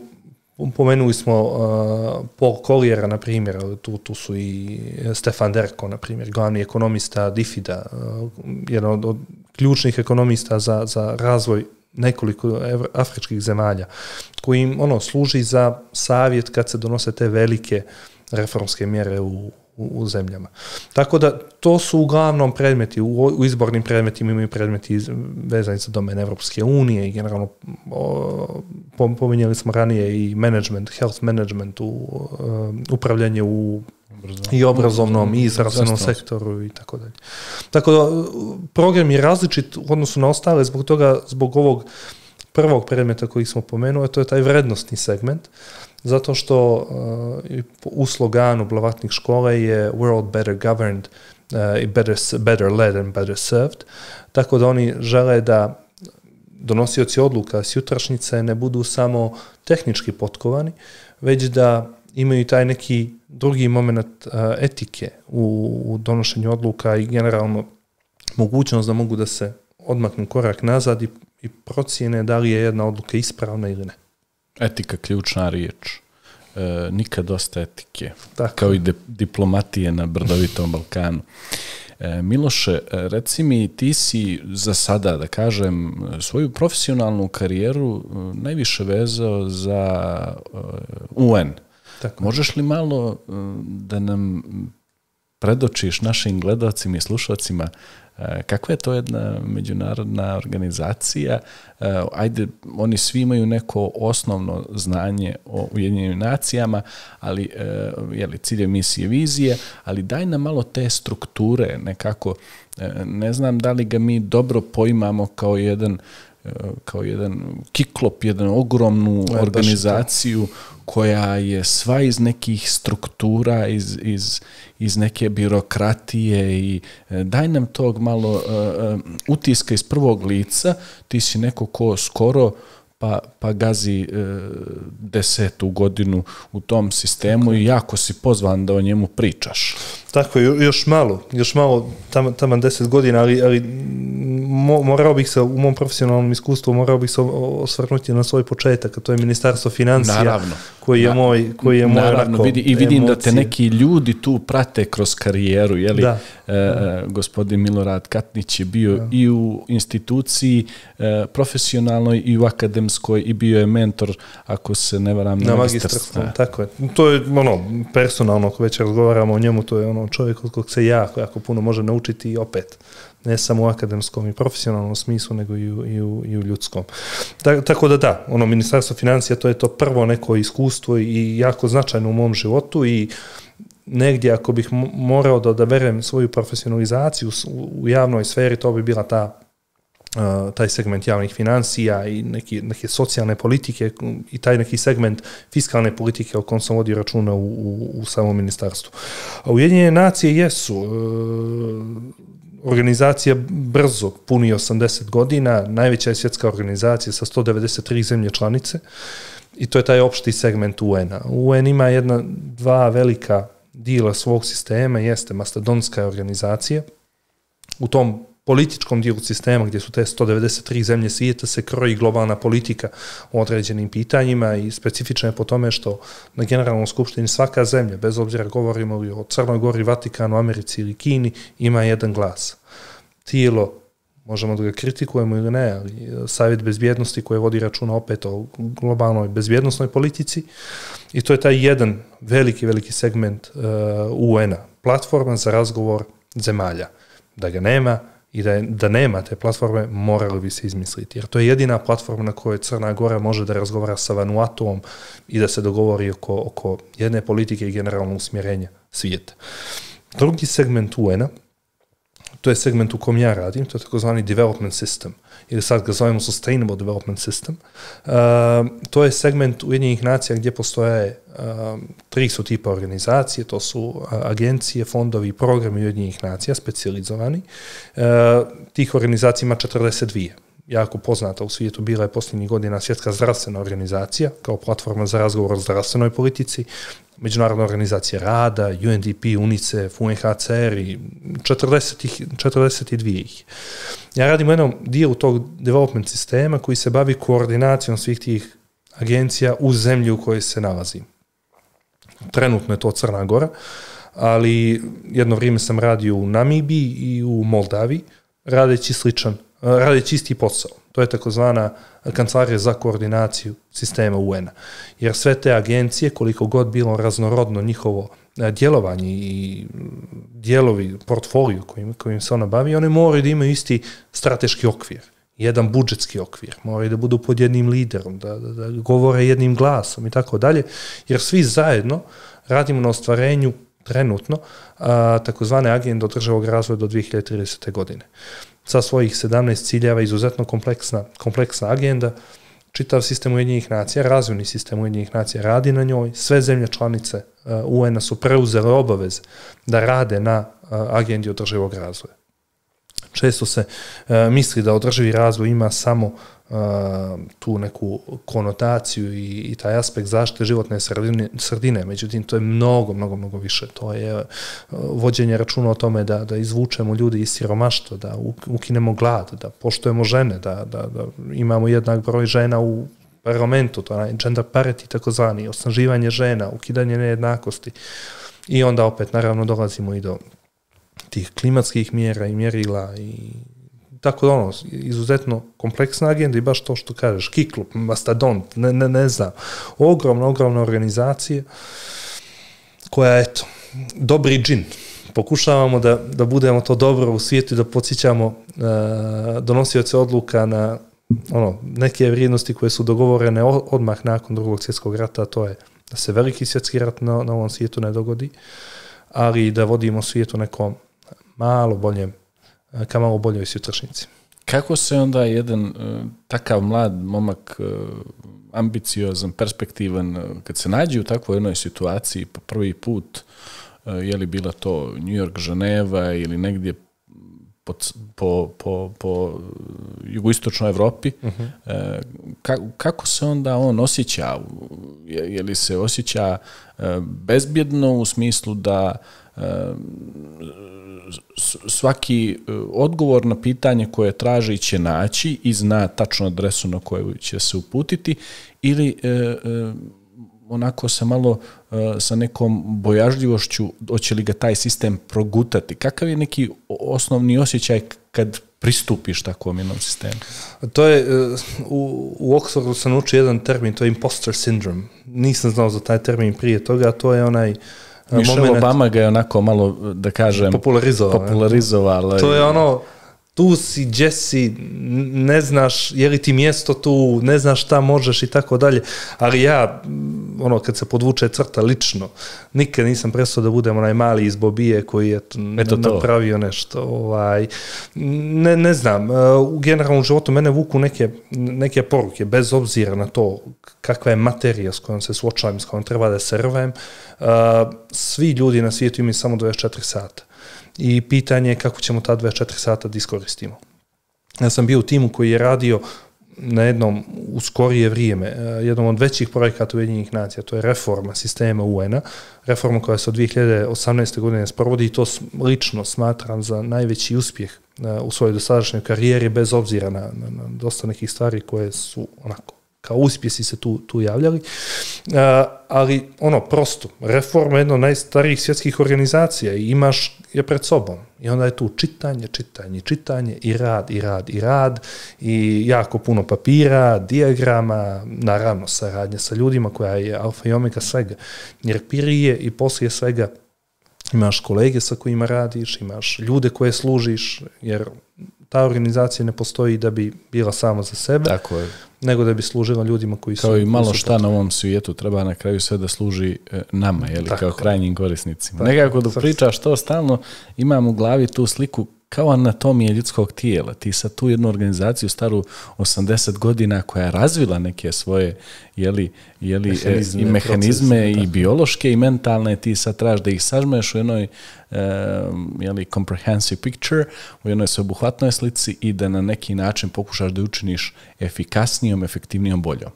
pomenuli smo uh, Paul Colliera, na primjer, tu, tu su i Stefan Derko, na primjer, glavni ekonomista D I F I D-a, uh, jedan od, od ključnih ekonomista za, za razvoj nekoliko afričkih zemalja, koji im ono, služi za savjet kad se donose te velike reformske mjere u, u, u zemljama. Tako da to su uglavnom predmeti, u, u izbornim predmetima imaju predmeti vezani za domen Evropske unije i generalno o, pominjali smo ranije i management, health management, u, uh, upravljanje u Obrazovno. i obrazovnom i zdravstvenom sektoru i tako dalje. Tako da program je različit u odnosu na ostale zbog toga, zbog ovog prvog predmeta koji smo pomenuli, to je taj vrednostni segment, zato što uh, u sloganu blavatnih škola je world better governed, uh, better, better led and better served, tako da oni žele da donosioci odluka s jutrašnjice ne budu samo tehnički potkovani, već da imaju taj neki drugi moment uh, etike u, u donošenju odluka i generalno mogućnost da mogu da se odmaknu korak nazad i, i procijene da li je jedna odluka ispravna ili ne. Etika ključna riječ. E, nikad dosta etike. Tako. Kao i de, diplomatije na brdovitom Balkanu. E, Miloše, reci mi, ti si za sada, da kažem, svoju profesionalnu karijeru najviše vezao za U N. Tako. Možeš li malo da nam predočiš našim gledalcima i slušalcima kakva je to jedna međunarodna organizacija? Ajde, oni svi imaju neko osnovno znanje o Ujedinjenim nacijama, ali je li cilj misije, vizije, ali daj nam malo te strukture nekako. Ne znam da li ga mi dobro poimamo kao jedan kao jedan kiklop, jednu ogromnu ja, organizaciju koja je sva iz nekih struktura, iz, iz, iz neke birokratije i daj nam tog malo uh, utiska iz prvog lica, ti si neko ko skoro pa, pa gazi uh, desetu godinu u tom sistemu tako. I jako si pozvan da o njemu pričaš. Tako, još malo, još malo, tamo tam deset godina, ali, ali mo, morao bih se, u mom profesionalnom iskustvu, morao bih se osvrnuti na svoj početak, a to je Ministarstvo financija, naravno, koji je moj, koji je moj naravno, onako, vidi, i vidim emocije. Da te neki ljudi tu prate kroz karijeru, jeli? Da. E, e, gospodin Milorad Katnić je bio da. I u instituciji e, profesionalnoj i u akademskoj i bio je mentor, ako se ne varam, na magistarstvu. Tako je. To je ono, personalno, ako već razgovaramo o njemu, to je ono čovjek od kog se jako, jako puno može naučiti i opet, ne samo u akademskom i profesionalnom smislu, nego i u, i u, i u ljudskom. Ta, tako da da, ono, Ministarstvo financija, to je to prvo neko iskustvo i jako značajno u mom životu i negdje ako bih morao da odaberem svoju profesionalizaciju u javnoj sferi, to bi bila ta Uh, taj segment javnih financija i neki, neke socijalne politike i taj neki segment fiskalne politike o kom sam vodio računa u, u, u samom ministarstvu. A Ujedinjene nacije jesu uh, organizacija brzo puni osamdeset godina, najveća je svjetska organizacija sa sto devedeset tri zemlje članice i to je taj opšti segment U N-a. U N ima jedna, dva velika dijela svog sistema, jeste mastodonska organizacija. U tom političkom dijelu sistema gdje su te sto devedeset tri zemlje svijeta se kroji globalna politika o određenim pitanjima i specifično je po tome što na Generalnoj skupštini svaka zemlja, bez obzira govorimo li o Crnoj Gori, Vatikanu, Americi ili Kini, ima jedan glas. Tijelo, možemo da ga kritikujemo ili ne, ali Savjet bezbjednosti koji vodi računa opet o globalnoj bezbjednosnoj politici i to je taj jedan veliki, veliki segment uh, U N-a, platforma za razgovor zemalja. Da ga nema i da, je, da nema te platforme, morali bi se izmisliti. Jer to je jedina platforma na kojoj Crna Gora može da razgovara sa Vanuatuom i da se dogovori oko, oko jedne politike i generalnog usmjerenja svijeta. Drugi segment U N-a, to je segment u kom ja radim, to je takozvani development system, ili sad ga zovemo sustainable development system. Uh, to je segment Ujedinjenih nacija gdje postoje uh, tri su tipa organizacije, to su uh, agencije, fondovi i programi Ujedinjenih nacija, specijalizovani. Uh, tih organizacija ima četrdeset dvije. Jako poznata u svijetu bila je posljednjih godina Svjetska zdravstvena organizacija kao platforma za razgovor o zdravstvenoj politici, Međunarodna organizacija rada, U N D P, UNICEF, U N H C R i četrdeset dvije ih. Ja radim u jednom dijelu tog development sistema koji se bavi koordinacijom svih tih agencija u zemlji u kojoj se nalazi. Trenutno je to Crna Gora, ali jedno vrijeme sam radio u Namibiji i u Moldaviji, radeći sličan, radeći isti posao. To je takozvana kancelarija za koordinaciju sistema U N-a. Jer sve te agencije, koliko god bilo raznorodno njihovo djelovanje i dijelovi, portfolio kojim, kojim se ona bavi, one moraju da imaju isti strateški okvir, jedan budžetski okvir, moraju da budu pod jednim liderom, da, da, da govore jednim glasom i tako dalje, jer svi zajedno radimo na ostvarenju trenutno a, takozvane agende održivog razvoja do dvije hiljade tridesete. godine. Sa svojih sedamnaest ciljeva, izuzetno kompleksna, kompleksna agenda, čitav sistem Ujedinjenih nacija, razvojni sistem Ujedinjenih nacija radi na njoj, sve zemlje članice U N-a su preuzele obaveze da rade na agendi održivog razvoja. Često se uh, misli da održivi razvoj ima samo uh, tu neku konotaciju i, i taj aspekt zaštite životne sredine, sredine, međutim to je mnogo, mnogo, mnogo više. To je uh, vođenje računa o tome da, da izvučemo ljudi iz siromaštva, da ukinemo glad, da poštujemo žene, da, da, da imamo jednak broj žena u parlamentu, to je gender parity takozvani, osnaživanje žena, ukidanje nejednakosti i onda opet naravno dolazimo i do tih klimatskih mjera i mjerila i tako da ono, izuzetno kompleksna agenda i baš to što kažeš, Kiklop, Mastodont, ne, ne, ne znam, ogromna, ogromna organizacija koja, eto, dobri džin. Pokušavamo da, da budemo to dobro u svijetu i da podsjećamo uh, donosioce odluka na ono, neke vrijednosti koje su dogovorene odmah nakon drugog svjetskog rata, to je da se veliki svjetski rat na, na ovom svijetu ne dogodi, ali da vodimo svijetu nekom malo boljem, ka malo boljoj sutrašnjici. Kako se onda jedan uh, takav mlad momak, uh, ambiciozan, perspektivan, uh, kad se nađe u takvoj jednoj situaciji po prvi put, uh, je li bila to New York, Ženeva ili negdje po, po, po, po jugoistočnoj Evropi, uh-huh. uh, ka, kako se onda on osjeća? Je, je li se osjeća uh, bezbjedno u smislu da uh, svaki odgovor na pitanje koje traži će naći i zna tačnu adresu na koju će se uputiti ili e, e, onako se malo e, sa nekom bojažljivošću hoće li ga taj sistem progutati? Kakav je neki osnovni osjećaj kad pristupiš takvom jednom sistemu? To je, u, u Oxfordu sam učio jedan termin, to je imposter syndrome. Nisam znao za taj termin prije toga, to je onaj Michelle moment, Obama ga je onako malo, da kažem, popularizovao. popularizovao. To je ono, tu si, gdje si, ne znaš je li ti mjesto tu, ne znaš šta možeš i tako dalje, ali ja, ono, kad se podvuče crta lično, nikad nisam prestao da budem onaj mali iz Bobije koji je Eto napravio to. nešto. Ovaj, ne, ne znam, u generalnom životu mene vuku neke, neke poruke, bez obzira na to kakva je materija s kojom se suočavam, s kojom treba da se rvem. Uh, svi ljudi na svijetu imaju samo dvadeset četiri sata. I pitanje je kako ćemo ta dvadeset četiri sata da iskoristimo. Ja sam bio u timu koji je radio na jednom u skorije vrijeme, jednom od većih projekata Ujedinjenih nacija, to je reforma sistema U N-a, reforma koja se od dvije hiljade osamnaeste. godine sprovodi i to lično smatram za najveći uspjeh u svojoj dosadašnjoj karijeri, bez obzira na, na, na dosta nekih stvari koje su onako kao uspjesi se tu, tu javljali. Uh, ali ono, prosto, reforma je jedna od najstarijih svjetskih organizacija i imaš je pred sobom. I onda je tu čitanje, čitanje, čitanje i rad, i rad, i rad i jako puno papira, dijagrama, naravno saradnja sa ljudima koja je alfa i omega svega. Jer prije i poslije svega imaš kolege sa kojima radiš, imaš ljude koje služiš, jer ta organizacija ne postoji da bi bila sama za sebe, tako je, nego da bi služila ljudima koji su... Kao i malo šta na ovom svijetu treba na kraju sve da služi nama, jeli, kao krajnjim korisnicima. Tako, nekako da pričaš to stalno, imam u glavi tu sliku kao anatomije ljudskog tijela. Ti sad tu jednu organizaciju staru osamdeset godina koja je razvila neke svoje jeli, jeli, mehanizme, i mehanizme procese, i biološke i mentalne, ti sad tražiš da ih sažmeš u jednoj uh, jeli, comprehensive picture, u jednoj sveobuhvatnoj slici i da na neki način pokušaš da učiniš efikasnijom, efektivnijom, boljom.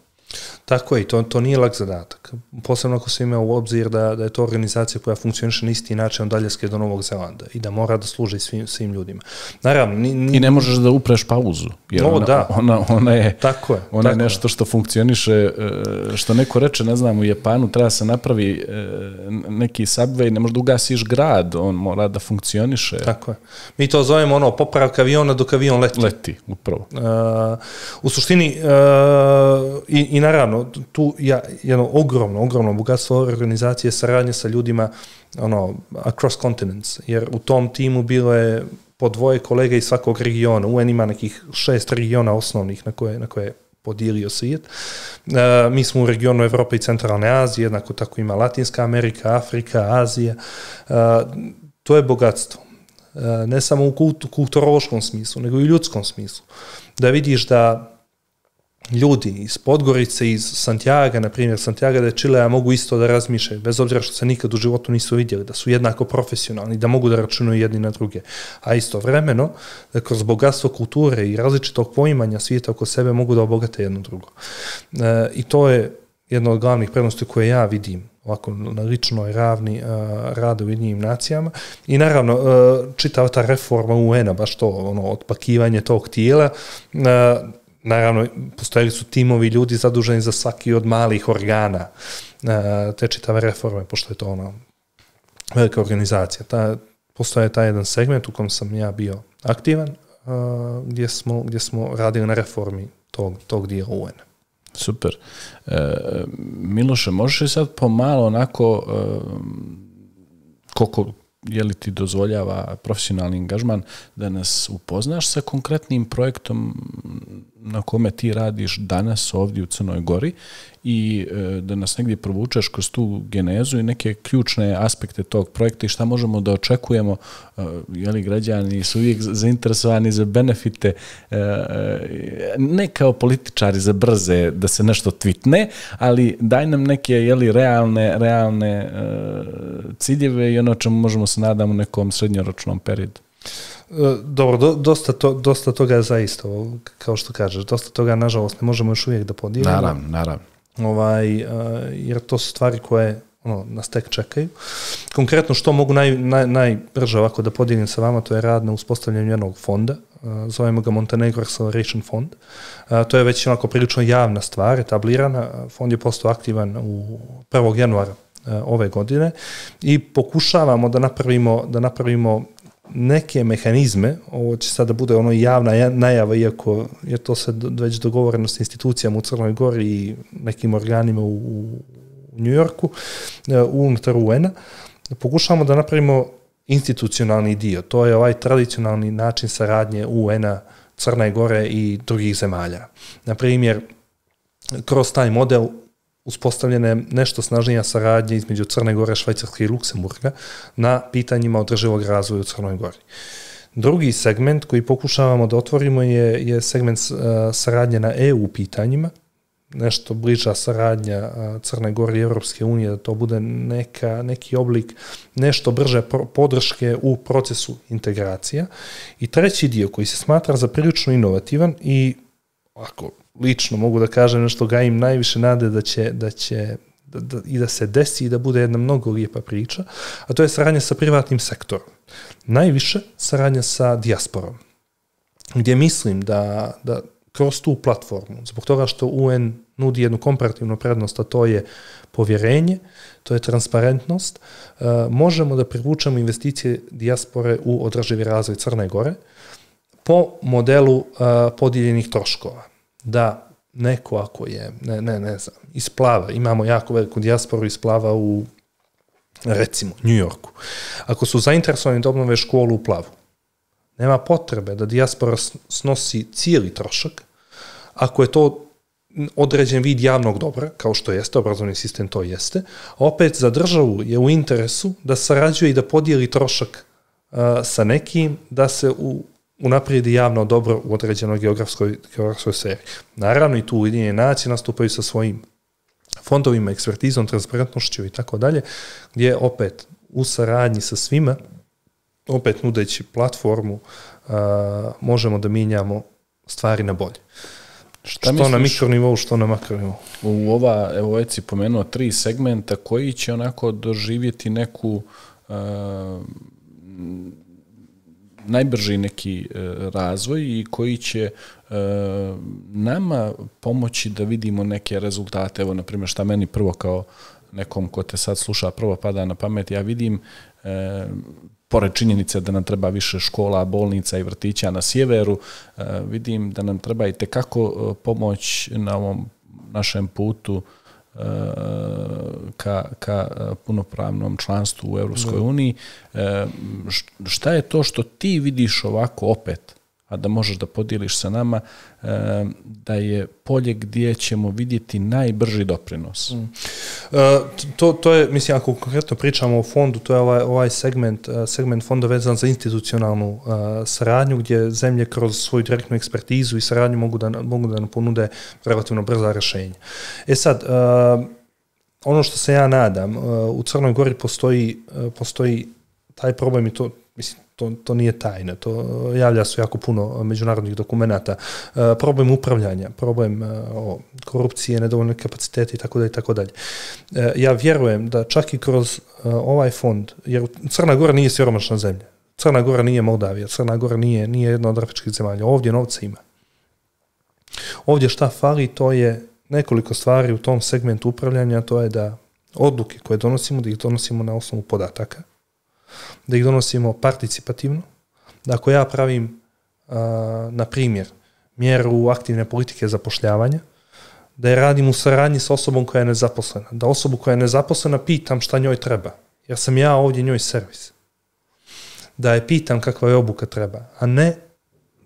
Tako je, to, to nije lak zadatak. Posebno ako se ima u obzir da, da je to organizacija koja funkcioniše na isti način od Aljaske do Novog Zelanda i da mora da služi svim, svim ljudima. Naravno, ni, ni... I ne možeš da upreš pauzu, jer no, ona, da. ona, ona je, tako je, ona tako je nešto što funkcioniše, što neko reče, ne znam, u Japanu treba se napravi neki subway, ne možeš da ugasiš grad, on mora da funkcioniše. Tako je. Mi to zovemo ono popravka aviona dok avion leti. Leti, upravo. Uh, u suštini, uh, i, i naravno, tu je jedno ogromno, ogromno bogatstvo organizacije saradnje sa ljudima ono, across continents, jer u tom timu bilo je po dvoje kolega iz svakog regiona. U N ima nekih šest regiona osnovnih na koje, na koje je podijelio svijet. Uh, mi smo u regionu Evrope i Centralne Azije, jednako tako ima Latinska Amerika, Afrika, Azija. Uh, to je bogatstvo. Uh, ne samo u kult, kulturološkom smislu, nego i u ljudskom smislu. Da vidiš da ljudi iz Podgorice, iz Santiaga, na primjer Santiago de Chilea, mogu isto da razmišljaju, bez obzira što se nikad u životu nisu vidjeli, da su jednako profesionalni, da mogu da računaju jedni na druge. A istovremeno, da kroz bogatstvo kulture i različitog poimanja svijeta oko sebe mogu da obogate jedno drugo. E, I to je jedna od glavnih prednosti koje ja vidim ovako na ličnoj ravni uh, rada u Ujedinjenim nacijama. I naravno, uh, čitava ta reforma U N-a, baš to, ono, otpakivanje tog tijela, uh, naravno, postojali su timovi ljudi zaduženi za svaki od malih organa te čitave reforme, pošto je to ona velika organizacija. Ta, postoje taj jedan segment u kojem sam ja bio aktivan, gdje smo, gdje smo radili na reformi tog, tog dijela U N-a. Super. E, Miloše, možeš li sad pomalo onako, e, koliko je li ti dozvoljava profesionalni angažman, da nas upoznaš sa konkretnim projektom na kome ti radiš danas ovdje u Crnoj Gori i da nas negdje provučeš kroz tu genezu i neke ključne aspekte tog projekta i šta možemo da očekujemo, je li građani su uvijek zainteresovani za benefite, ne kao političari za brze da se nešto tweetne, ali daj nam neke, je li, realne, realne ciljeve i ono čemu možemo se nadamo u nekom srednjoročnom periodu. Dobro, do, dosta, to, dosta toga je zaista, kao što kažeš, dosta toga nažalost ne možemo još uvijek da podijelimo. Naravno, naravno. Ovaj, jer to su stvari koje ono, nas tek čekaju. Konkretno što mogu naj, naj, najbrže ovako da podijelim sa vama, to je rad na uspostavljanju jednog fonda, zovemo ga Montenegro Acceleration Fond. To je već onako prilično javna stvar, etablirana. Fond je postao aktivan u prvog januara ove godine i pokušavamo da napravimo, da napravimo neke mehanizme, ovo će sada bude ono javna najava, iako je to sad već dogovoreno s institucijama u Crnoj Gori i nekim organima u, u New Yorku, unutar U N-a, pokušavamo da napravimo institucionalni dio. To je ovaj tradicionalni način saradnje U N-a, Crne Gore i drugih zemalja. Na primjer, kroz taj model uspostavljena je nešto snažnija saradnja između Crne Gore, Švajcarske i Luksemburga na pitanjima održivog razvoja u Crnoj Gori. Drugi segment koji pokušavamo da otvorimo je, je segment uh, saradnje na E U pitanjima, nešto bliža saradnja uh, Crne Gore i Europske unije, da to bude neka, neki oblik, nešto brže podrške u procesu integracija. I treći dio koji se smatra za prilično inovativan i ako lično mogu da kažem nešto gajim najviše nade da će, da će da, da, i da se desi i da bude jedna mnogo lijepa priča, a to je saradnja sa privatnim sektorom. Najviše saradnja sa dijasporom, gdje mislim da, da kroz tu platformu, zbog toga što U N nudi jednu komparativnu prednost, a to je povjerenje, to je transparentnost, uh, možemo da privučemo investicije dijaspore u održivi razvoj Crne Gore po modelu uh, podijeljenih troškova. Da neko ako je, ne, ne, ne znam, iz Plava, imamo jako veliku dijasporu iz Plava u, recimo, New Yorku. Ako su zainteresovani da obnove školu u Plavu, nema potrebe da dijaspora snosi cijeli trošak, ako je to određen vid javnog dobra, kao što jeste, obrazovni sistem to jeste, a opet za državu je u interesu da sarađuje i da podijeli trošak uh, sa nekim, da se u, unaprijedi javno dobro u određenoj geografskoj, geografskoj sferi. Naravno i tu Ujedinjene nacije nastupaju sa svojim fondovima, ekspertizom, transparentnošću i tako dalje, gdje opet u saradnji sa svima, opet nudeći platformu, uh, možemo da mijenjamo stvari na bolje. Šta što misliš, na mikronivou, što na makronivou? U ova, evo već si pomenuo tri segmenta koji će onako doživjeti neku uh, najbrži neki uh, razvoj i koji će uh, nama pomoći da vidimo neke rezultate. Evo, na primjer, šta meni prvo kao nekom ko te sad sluša prvo pada na pamet, ja vidim uh, pored činjenice da nam treba više škola, bolnica i vrtića na sjeveru, vidim da nam treba i tekako pomoć na ovom našem putu ka, ka punopravnom članstvu u Europskoj uniji. Šta je to što ti vidiš ovako opet, a da možeš da podijeliš sa nama, da je polje gdje ćemo vidjeti najbrži doprinos? Mm. Uh, to, to je, mislim, ako konkretno pričamo o fondu, to je ovaj, ovaj segment, segment fonda vezan za institucionalnu uh, saradnju, gdje zemlje kroz svoju direktnu ekspertizu i saradnju mogu da, mogu da nam ponude relativno brza rješenja. E sad, uh, ono što se ja nadam, uh, u Crnoj Gori postoji, uh, postoji taj problem i to, mislim, To, to nije tajna, to javlja se jako puno međunarodnih dokumenata. E, problem upravljanja, problem e, o, korupcije, nedovoljne kapacitete i tako dalje i tako dalje. E, ja vjerujem da čak i kroz e, ovaj fond, jer Crna Gora nije siromašna zemlja, Crna Gora nije Moldavija, Crna Gora nije, nije jedna od afričkih zemalja, ovdje novca ima. Ovdje šta fali, to je nekoliko stvari u tom segmentu upravljanja, to je da odluke koje donosimo, da ih donosimo na osnovu podataka, da ih donosimo participativno, da ako ja pravim, a, na primjer, mjeru aktivne politike zapošljavanja, da je radim u saradnji sa osobom koja je nezaposlena, da osobu koja je nezaposlena pitam šta njoj treba, jer sam ja ovdje njoj servis. Da je pitam kakva je obuka treba, a ne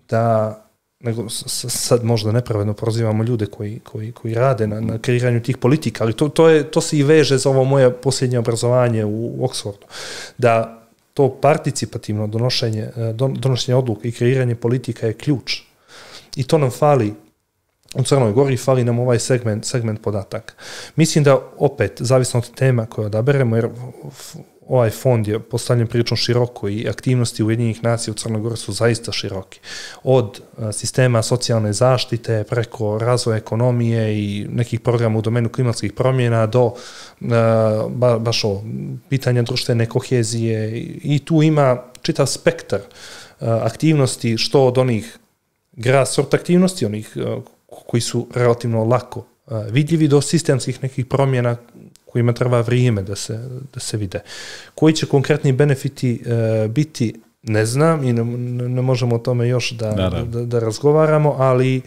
da, nego sad možda nepravedno prozivamo ljude koji, koji, koji rade na, na kreiranju tih politika, ali to, to, je, to se i veže za ovo moje posljednje obrazovanje u Oxfordu, da to participativno donošenje, donošenje odluka i kreiranje politika je ključ. I to nam fali u Crnoj Gori, fali nam ovaj segment, segment podataka. Mislim da opet, zavisno od tema koje odaberemo, jer ovaj fond je postavljen prilično široko i aktivnosti Ujedinjenih nacija u Crnoj Gori su zaista široki. Od sistema socijalne zaštite, preko razvoja ekonomije i nekih programa u domenu klimatskih promjena do ba, baš o pitanja društvene kohezije i tu ima čitav spektar aktivnosti, što od onih grassroots aktivnosti, onih koji su relativno lako vidljivi, do sistemskih nekih promjena kojima treba vrijeme da se, da se vide. Koji će konkretni benefiti e, biti, ne znam i ne, ne možemo o tome još da, da, da, da razgovaramo, ali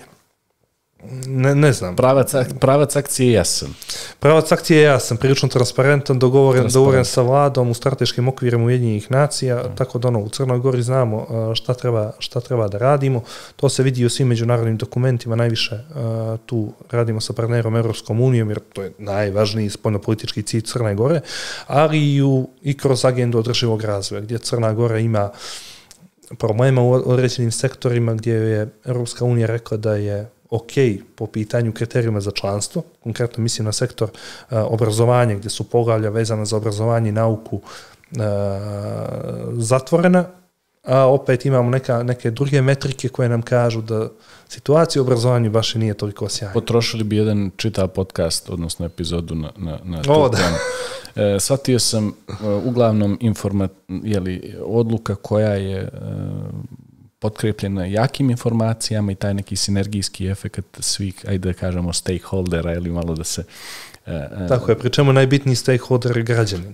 ne, ne znam. Pravac, pravac akcije je jasan. Pravac akcije je jasan, prilično transparentan, dogovoren, dogovoren sa vladom u strateškim okvirima Ujedinjenih nacija, mm. tako da ono, u Crnoj Gori znamo šta treba, šta treba da radimo. To se vidi u svim međunarodnim dokumentima, najviše uh, tu radimo sa partnerom Europskom unijom, jer to je najvažniji spoljnopolitički cilj Crne Gore, ali i, u, i kroz agendu održivog razvoja, gdje Crna Gora ima problema u određenim sektorima, gdje je Europska unija rekla da je ok po pitanju kriterijuma za članstvo, konkretno mislim na sektor uh, obrazovanja, gdje su poglavlja vezana za obrazovanje i nauku uh, zatvorena, a opet imamo neka, neke druge metrike koje nam kažu da situacija u obrazovanju baš i nije toliko sjajna. Potrošili bi jedan čitav podcast, odnosno epizodu na, na, na tu o, temu. E, shvatio sam e, uglavnom informa, jeli, odluka koja je e, potkrepljena jakim informacijama i taj neki sinergijski efekt svih, ajde da kažemo, stakeholdera ili malo da se... E, Tako je, pri čemu najbitniji stakeholder je građanin.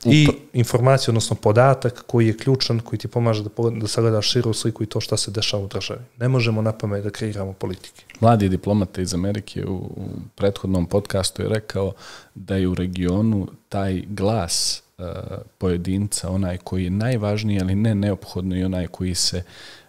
I informacija, odnosno podatak koji je ključan, koji ti pomaže da, da sagledaš širu sliku i to šta se dešava u državi. Ne možemo na pamet da kreiramo politike. Mladi diplomata iz Amerike u, u prethodnom podcastu je rekao da je u regionu taj glas uh, pojedinca, onaj koji je najvažniji, ali ne neophodno i onaj koji se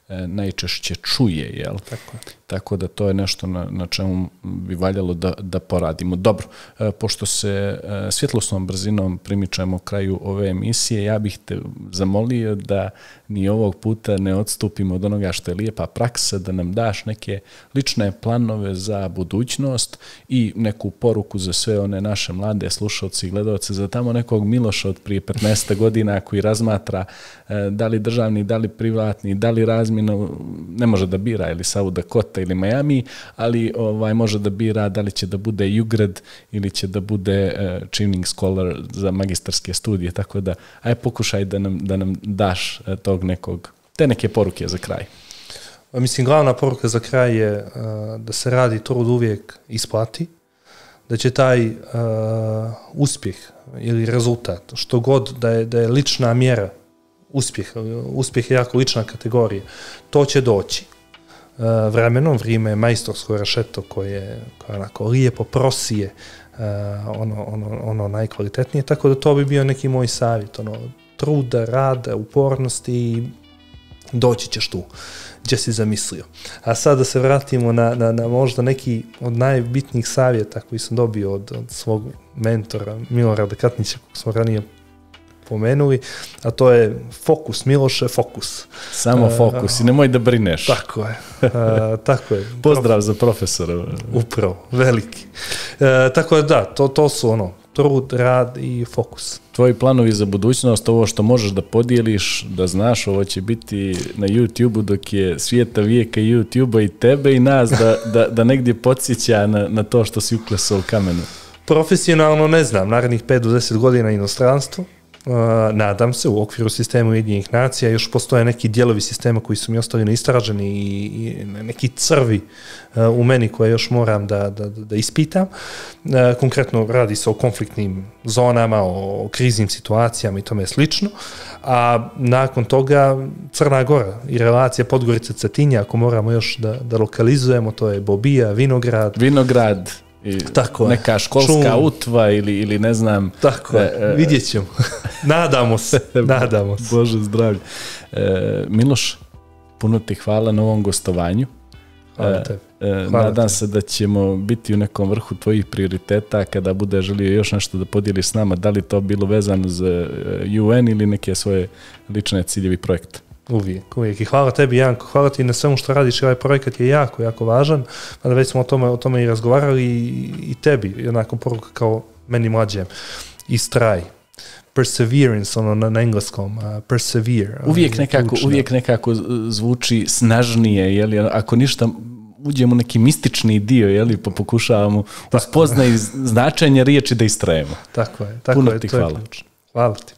uh, najčešće čuje, jel? Tako je. Tako da to je nešto na, na čemu bi valjalo da, da poradimo. Dobro, e, pošto se e, svjetlosnom brzinom primičamo kraju ove emisije, ja bih te zamolio da ni ovog puta ne odstupimo od onoga što je lijepa praksa, da nam daš neke lične planove za budućnost i neku poruku za sve one naše mlade slušalci i gledalce, za tamo nekog Miloša od prije petnaest godina koji razmatra e, da li državni, da li privatni, da li razmjeno, ne može da bira ili South Dakota ili Miami, ali ovaj može da bira da li će da bude U G R E D ili će da bude uh, Chevening Scholar za magistarske studije, tako da aj pokušaj da nam, da nam daš uh, tog nekog, te neke poruke za kraj. Mislim, glavna poruka za kraj je uh, da se radi trud uvijek isplati, da će taj uh, uspjeh ili rezultat, što god da je, da je lična mjera, uspjeh, uspjeh je jako lična kategorija, to će doći. Uh, vremenom, vrijeme je majstorsko rešeto koje, koje onako lijepo prosije uh, ono, ono, ono najkvalitetnije, tako da to bi bio neki moj savjet, ono, truda, rada, upornosti i doći ćeš tu gdje si zamislio. A sad da se vratimo na, na, na možda neki od najbitnijih savjeta koji sam dobio od, od svog mentora Milorada Katnića, kog smo ranije pomenuli, a to je fokus, Miloše, fokus. Samo fokus uh, i nemoj da brineš. Tako je. Uh, tako je. Pozdrav za profesora. Upravo, veliki. Uh, tako je, da, to, to su ono, trud, rad i fokus. Tvoji planovi za budućnost, ovo što možeš da podijeliš, da znaš, ovo će biti na YouTube-u dok je svijeta vijeka YouTube-a i tebe i nas da, da, da negdje podsjeća na, na to što si uklesao u kamenu. Profesionalno ne znam, narednih pet do deset godina inostranstvo. Uh, nadam se, u okviru sistema Ujedinjenih nacija još postoje neki dijelovi sistema koji su mi ostali neistraženi i, i neki crvi uh, u meni koje još moram da, da, da ispitam. Uh, konkretno radi se o konfliktnim zonama, o, o kriznim situacijama i tome slično. A nakon toga Crna Gora i relacija Podgorica-Cetinja, ako moramo još da, da lokalizujemo, to je Bobija, Vinograd. Vinograd. I tako neka je. Školska Čum. Utva ili, ili ne znam. Tako je, e, vidjet ćemo. Nadamo se, nadamo se. Bože zdravlje. E, Miloš, puno ti hvala na ovom gostovanju. Hvala tebi. E, nadam tebi. se da ćemo biti u nekom vrhu tvojih prioriteta kada bude želio još nešto da podijeliš s nama, da li to bilo vezano za U N ili neke svoje lične ciljevi projekta. Uvijek, uvijek. I hvala tebi, Janko, hvala ti na svemu što radiš. Ovaj projekat je jako, jako važan. Mada već smo o tome, o tome i razgovarali i, i tebi, jednako poruka kao meni mlađem. Istraj. Perseverance, ono na, na engleskom. Uh, persevere. Uvijek nekako, uvijek nekako zvuči snažnije, jeli? Ako ništa, uđemo u neki mistični dio, jeli? Pa pokušavamo uspoznati značenje riječi da istrajemo. Tako je. Tako Puno je, ti to hvala. Je ključno. Hvala ti.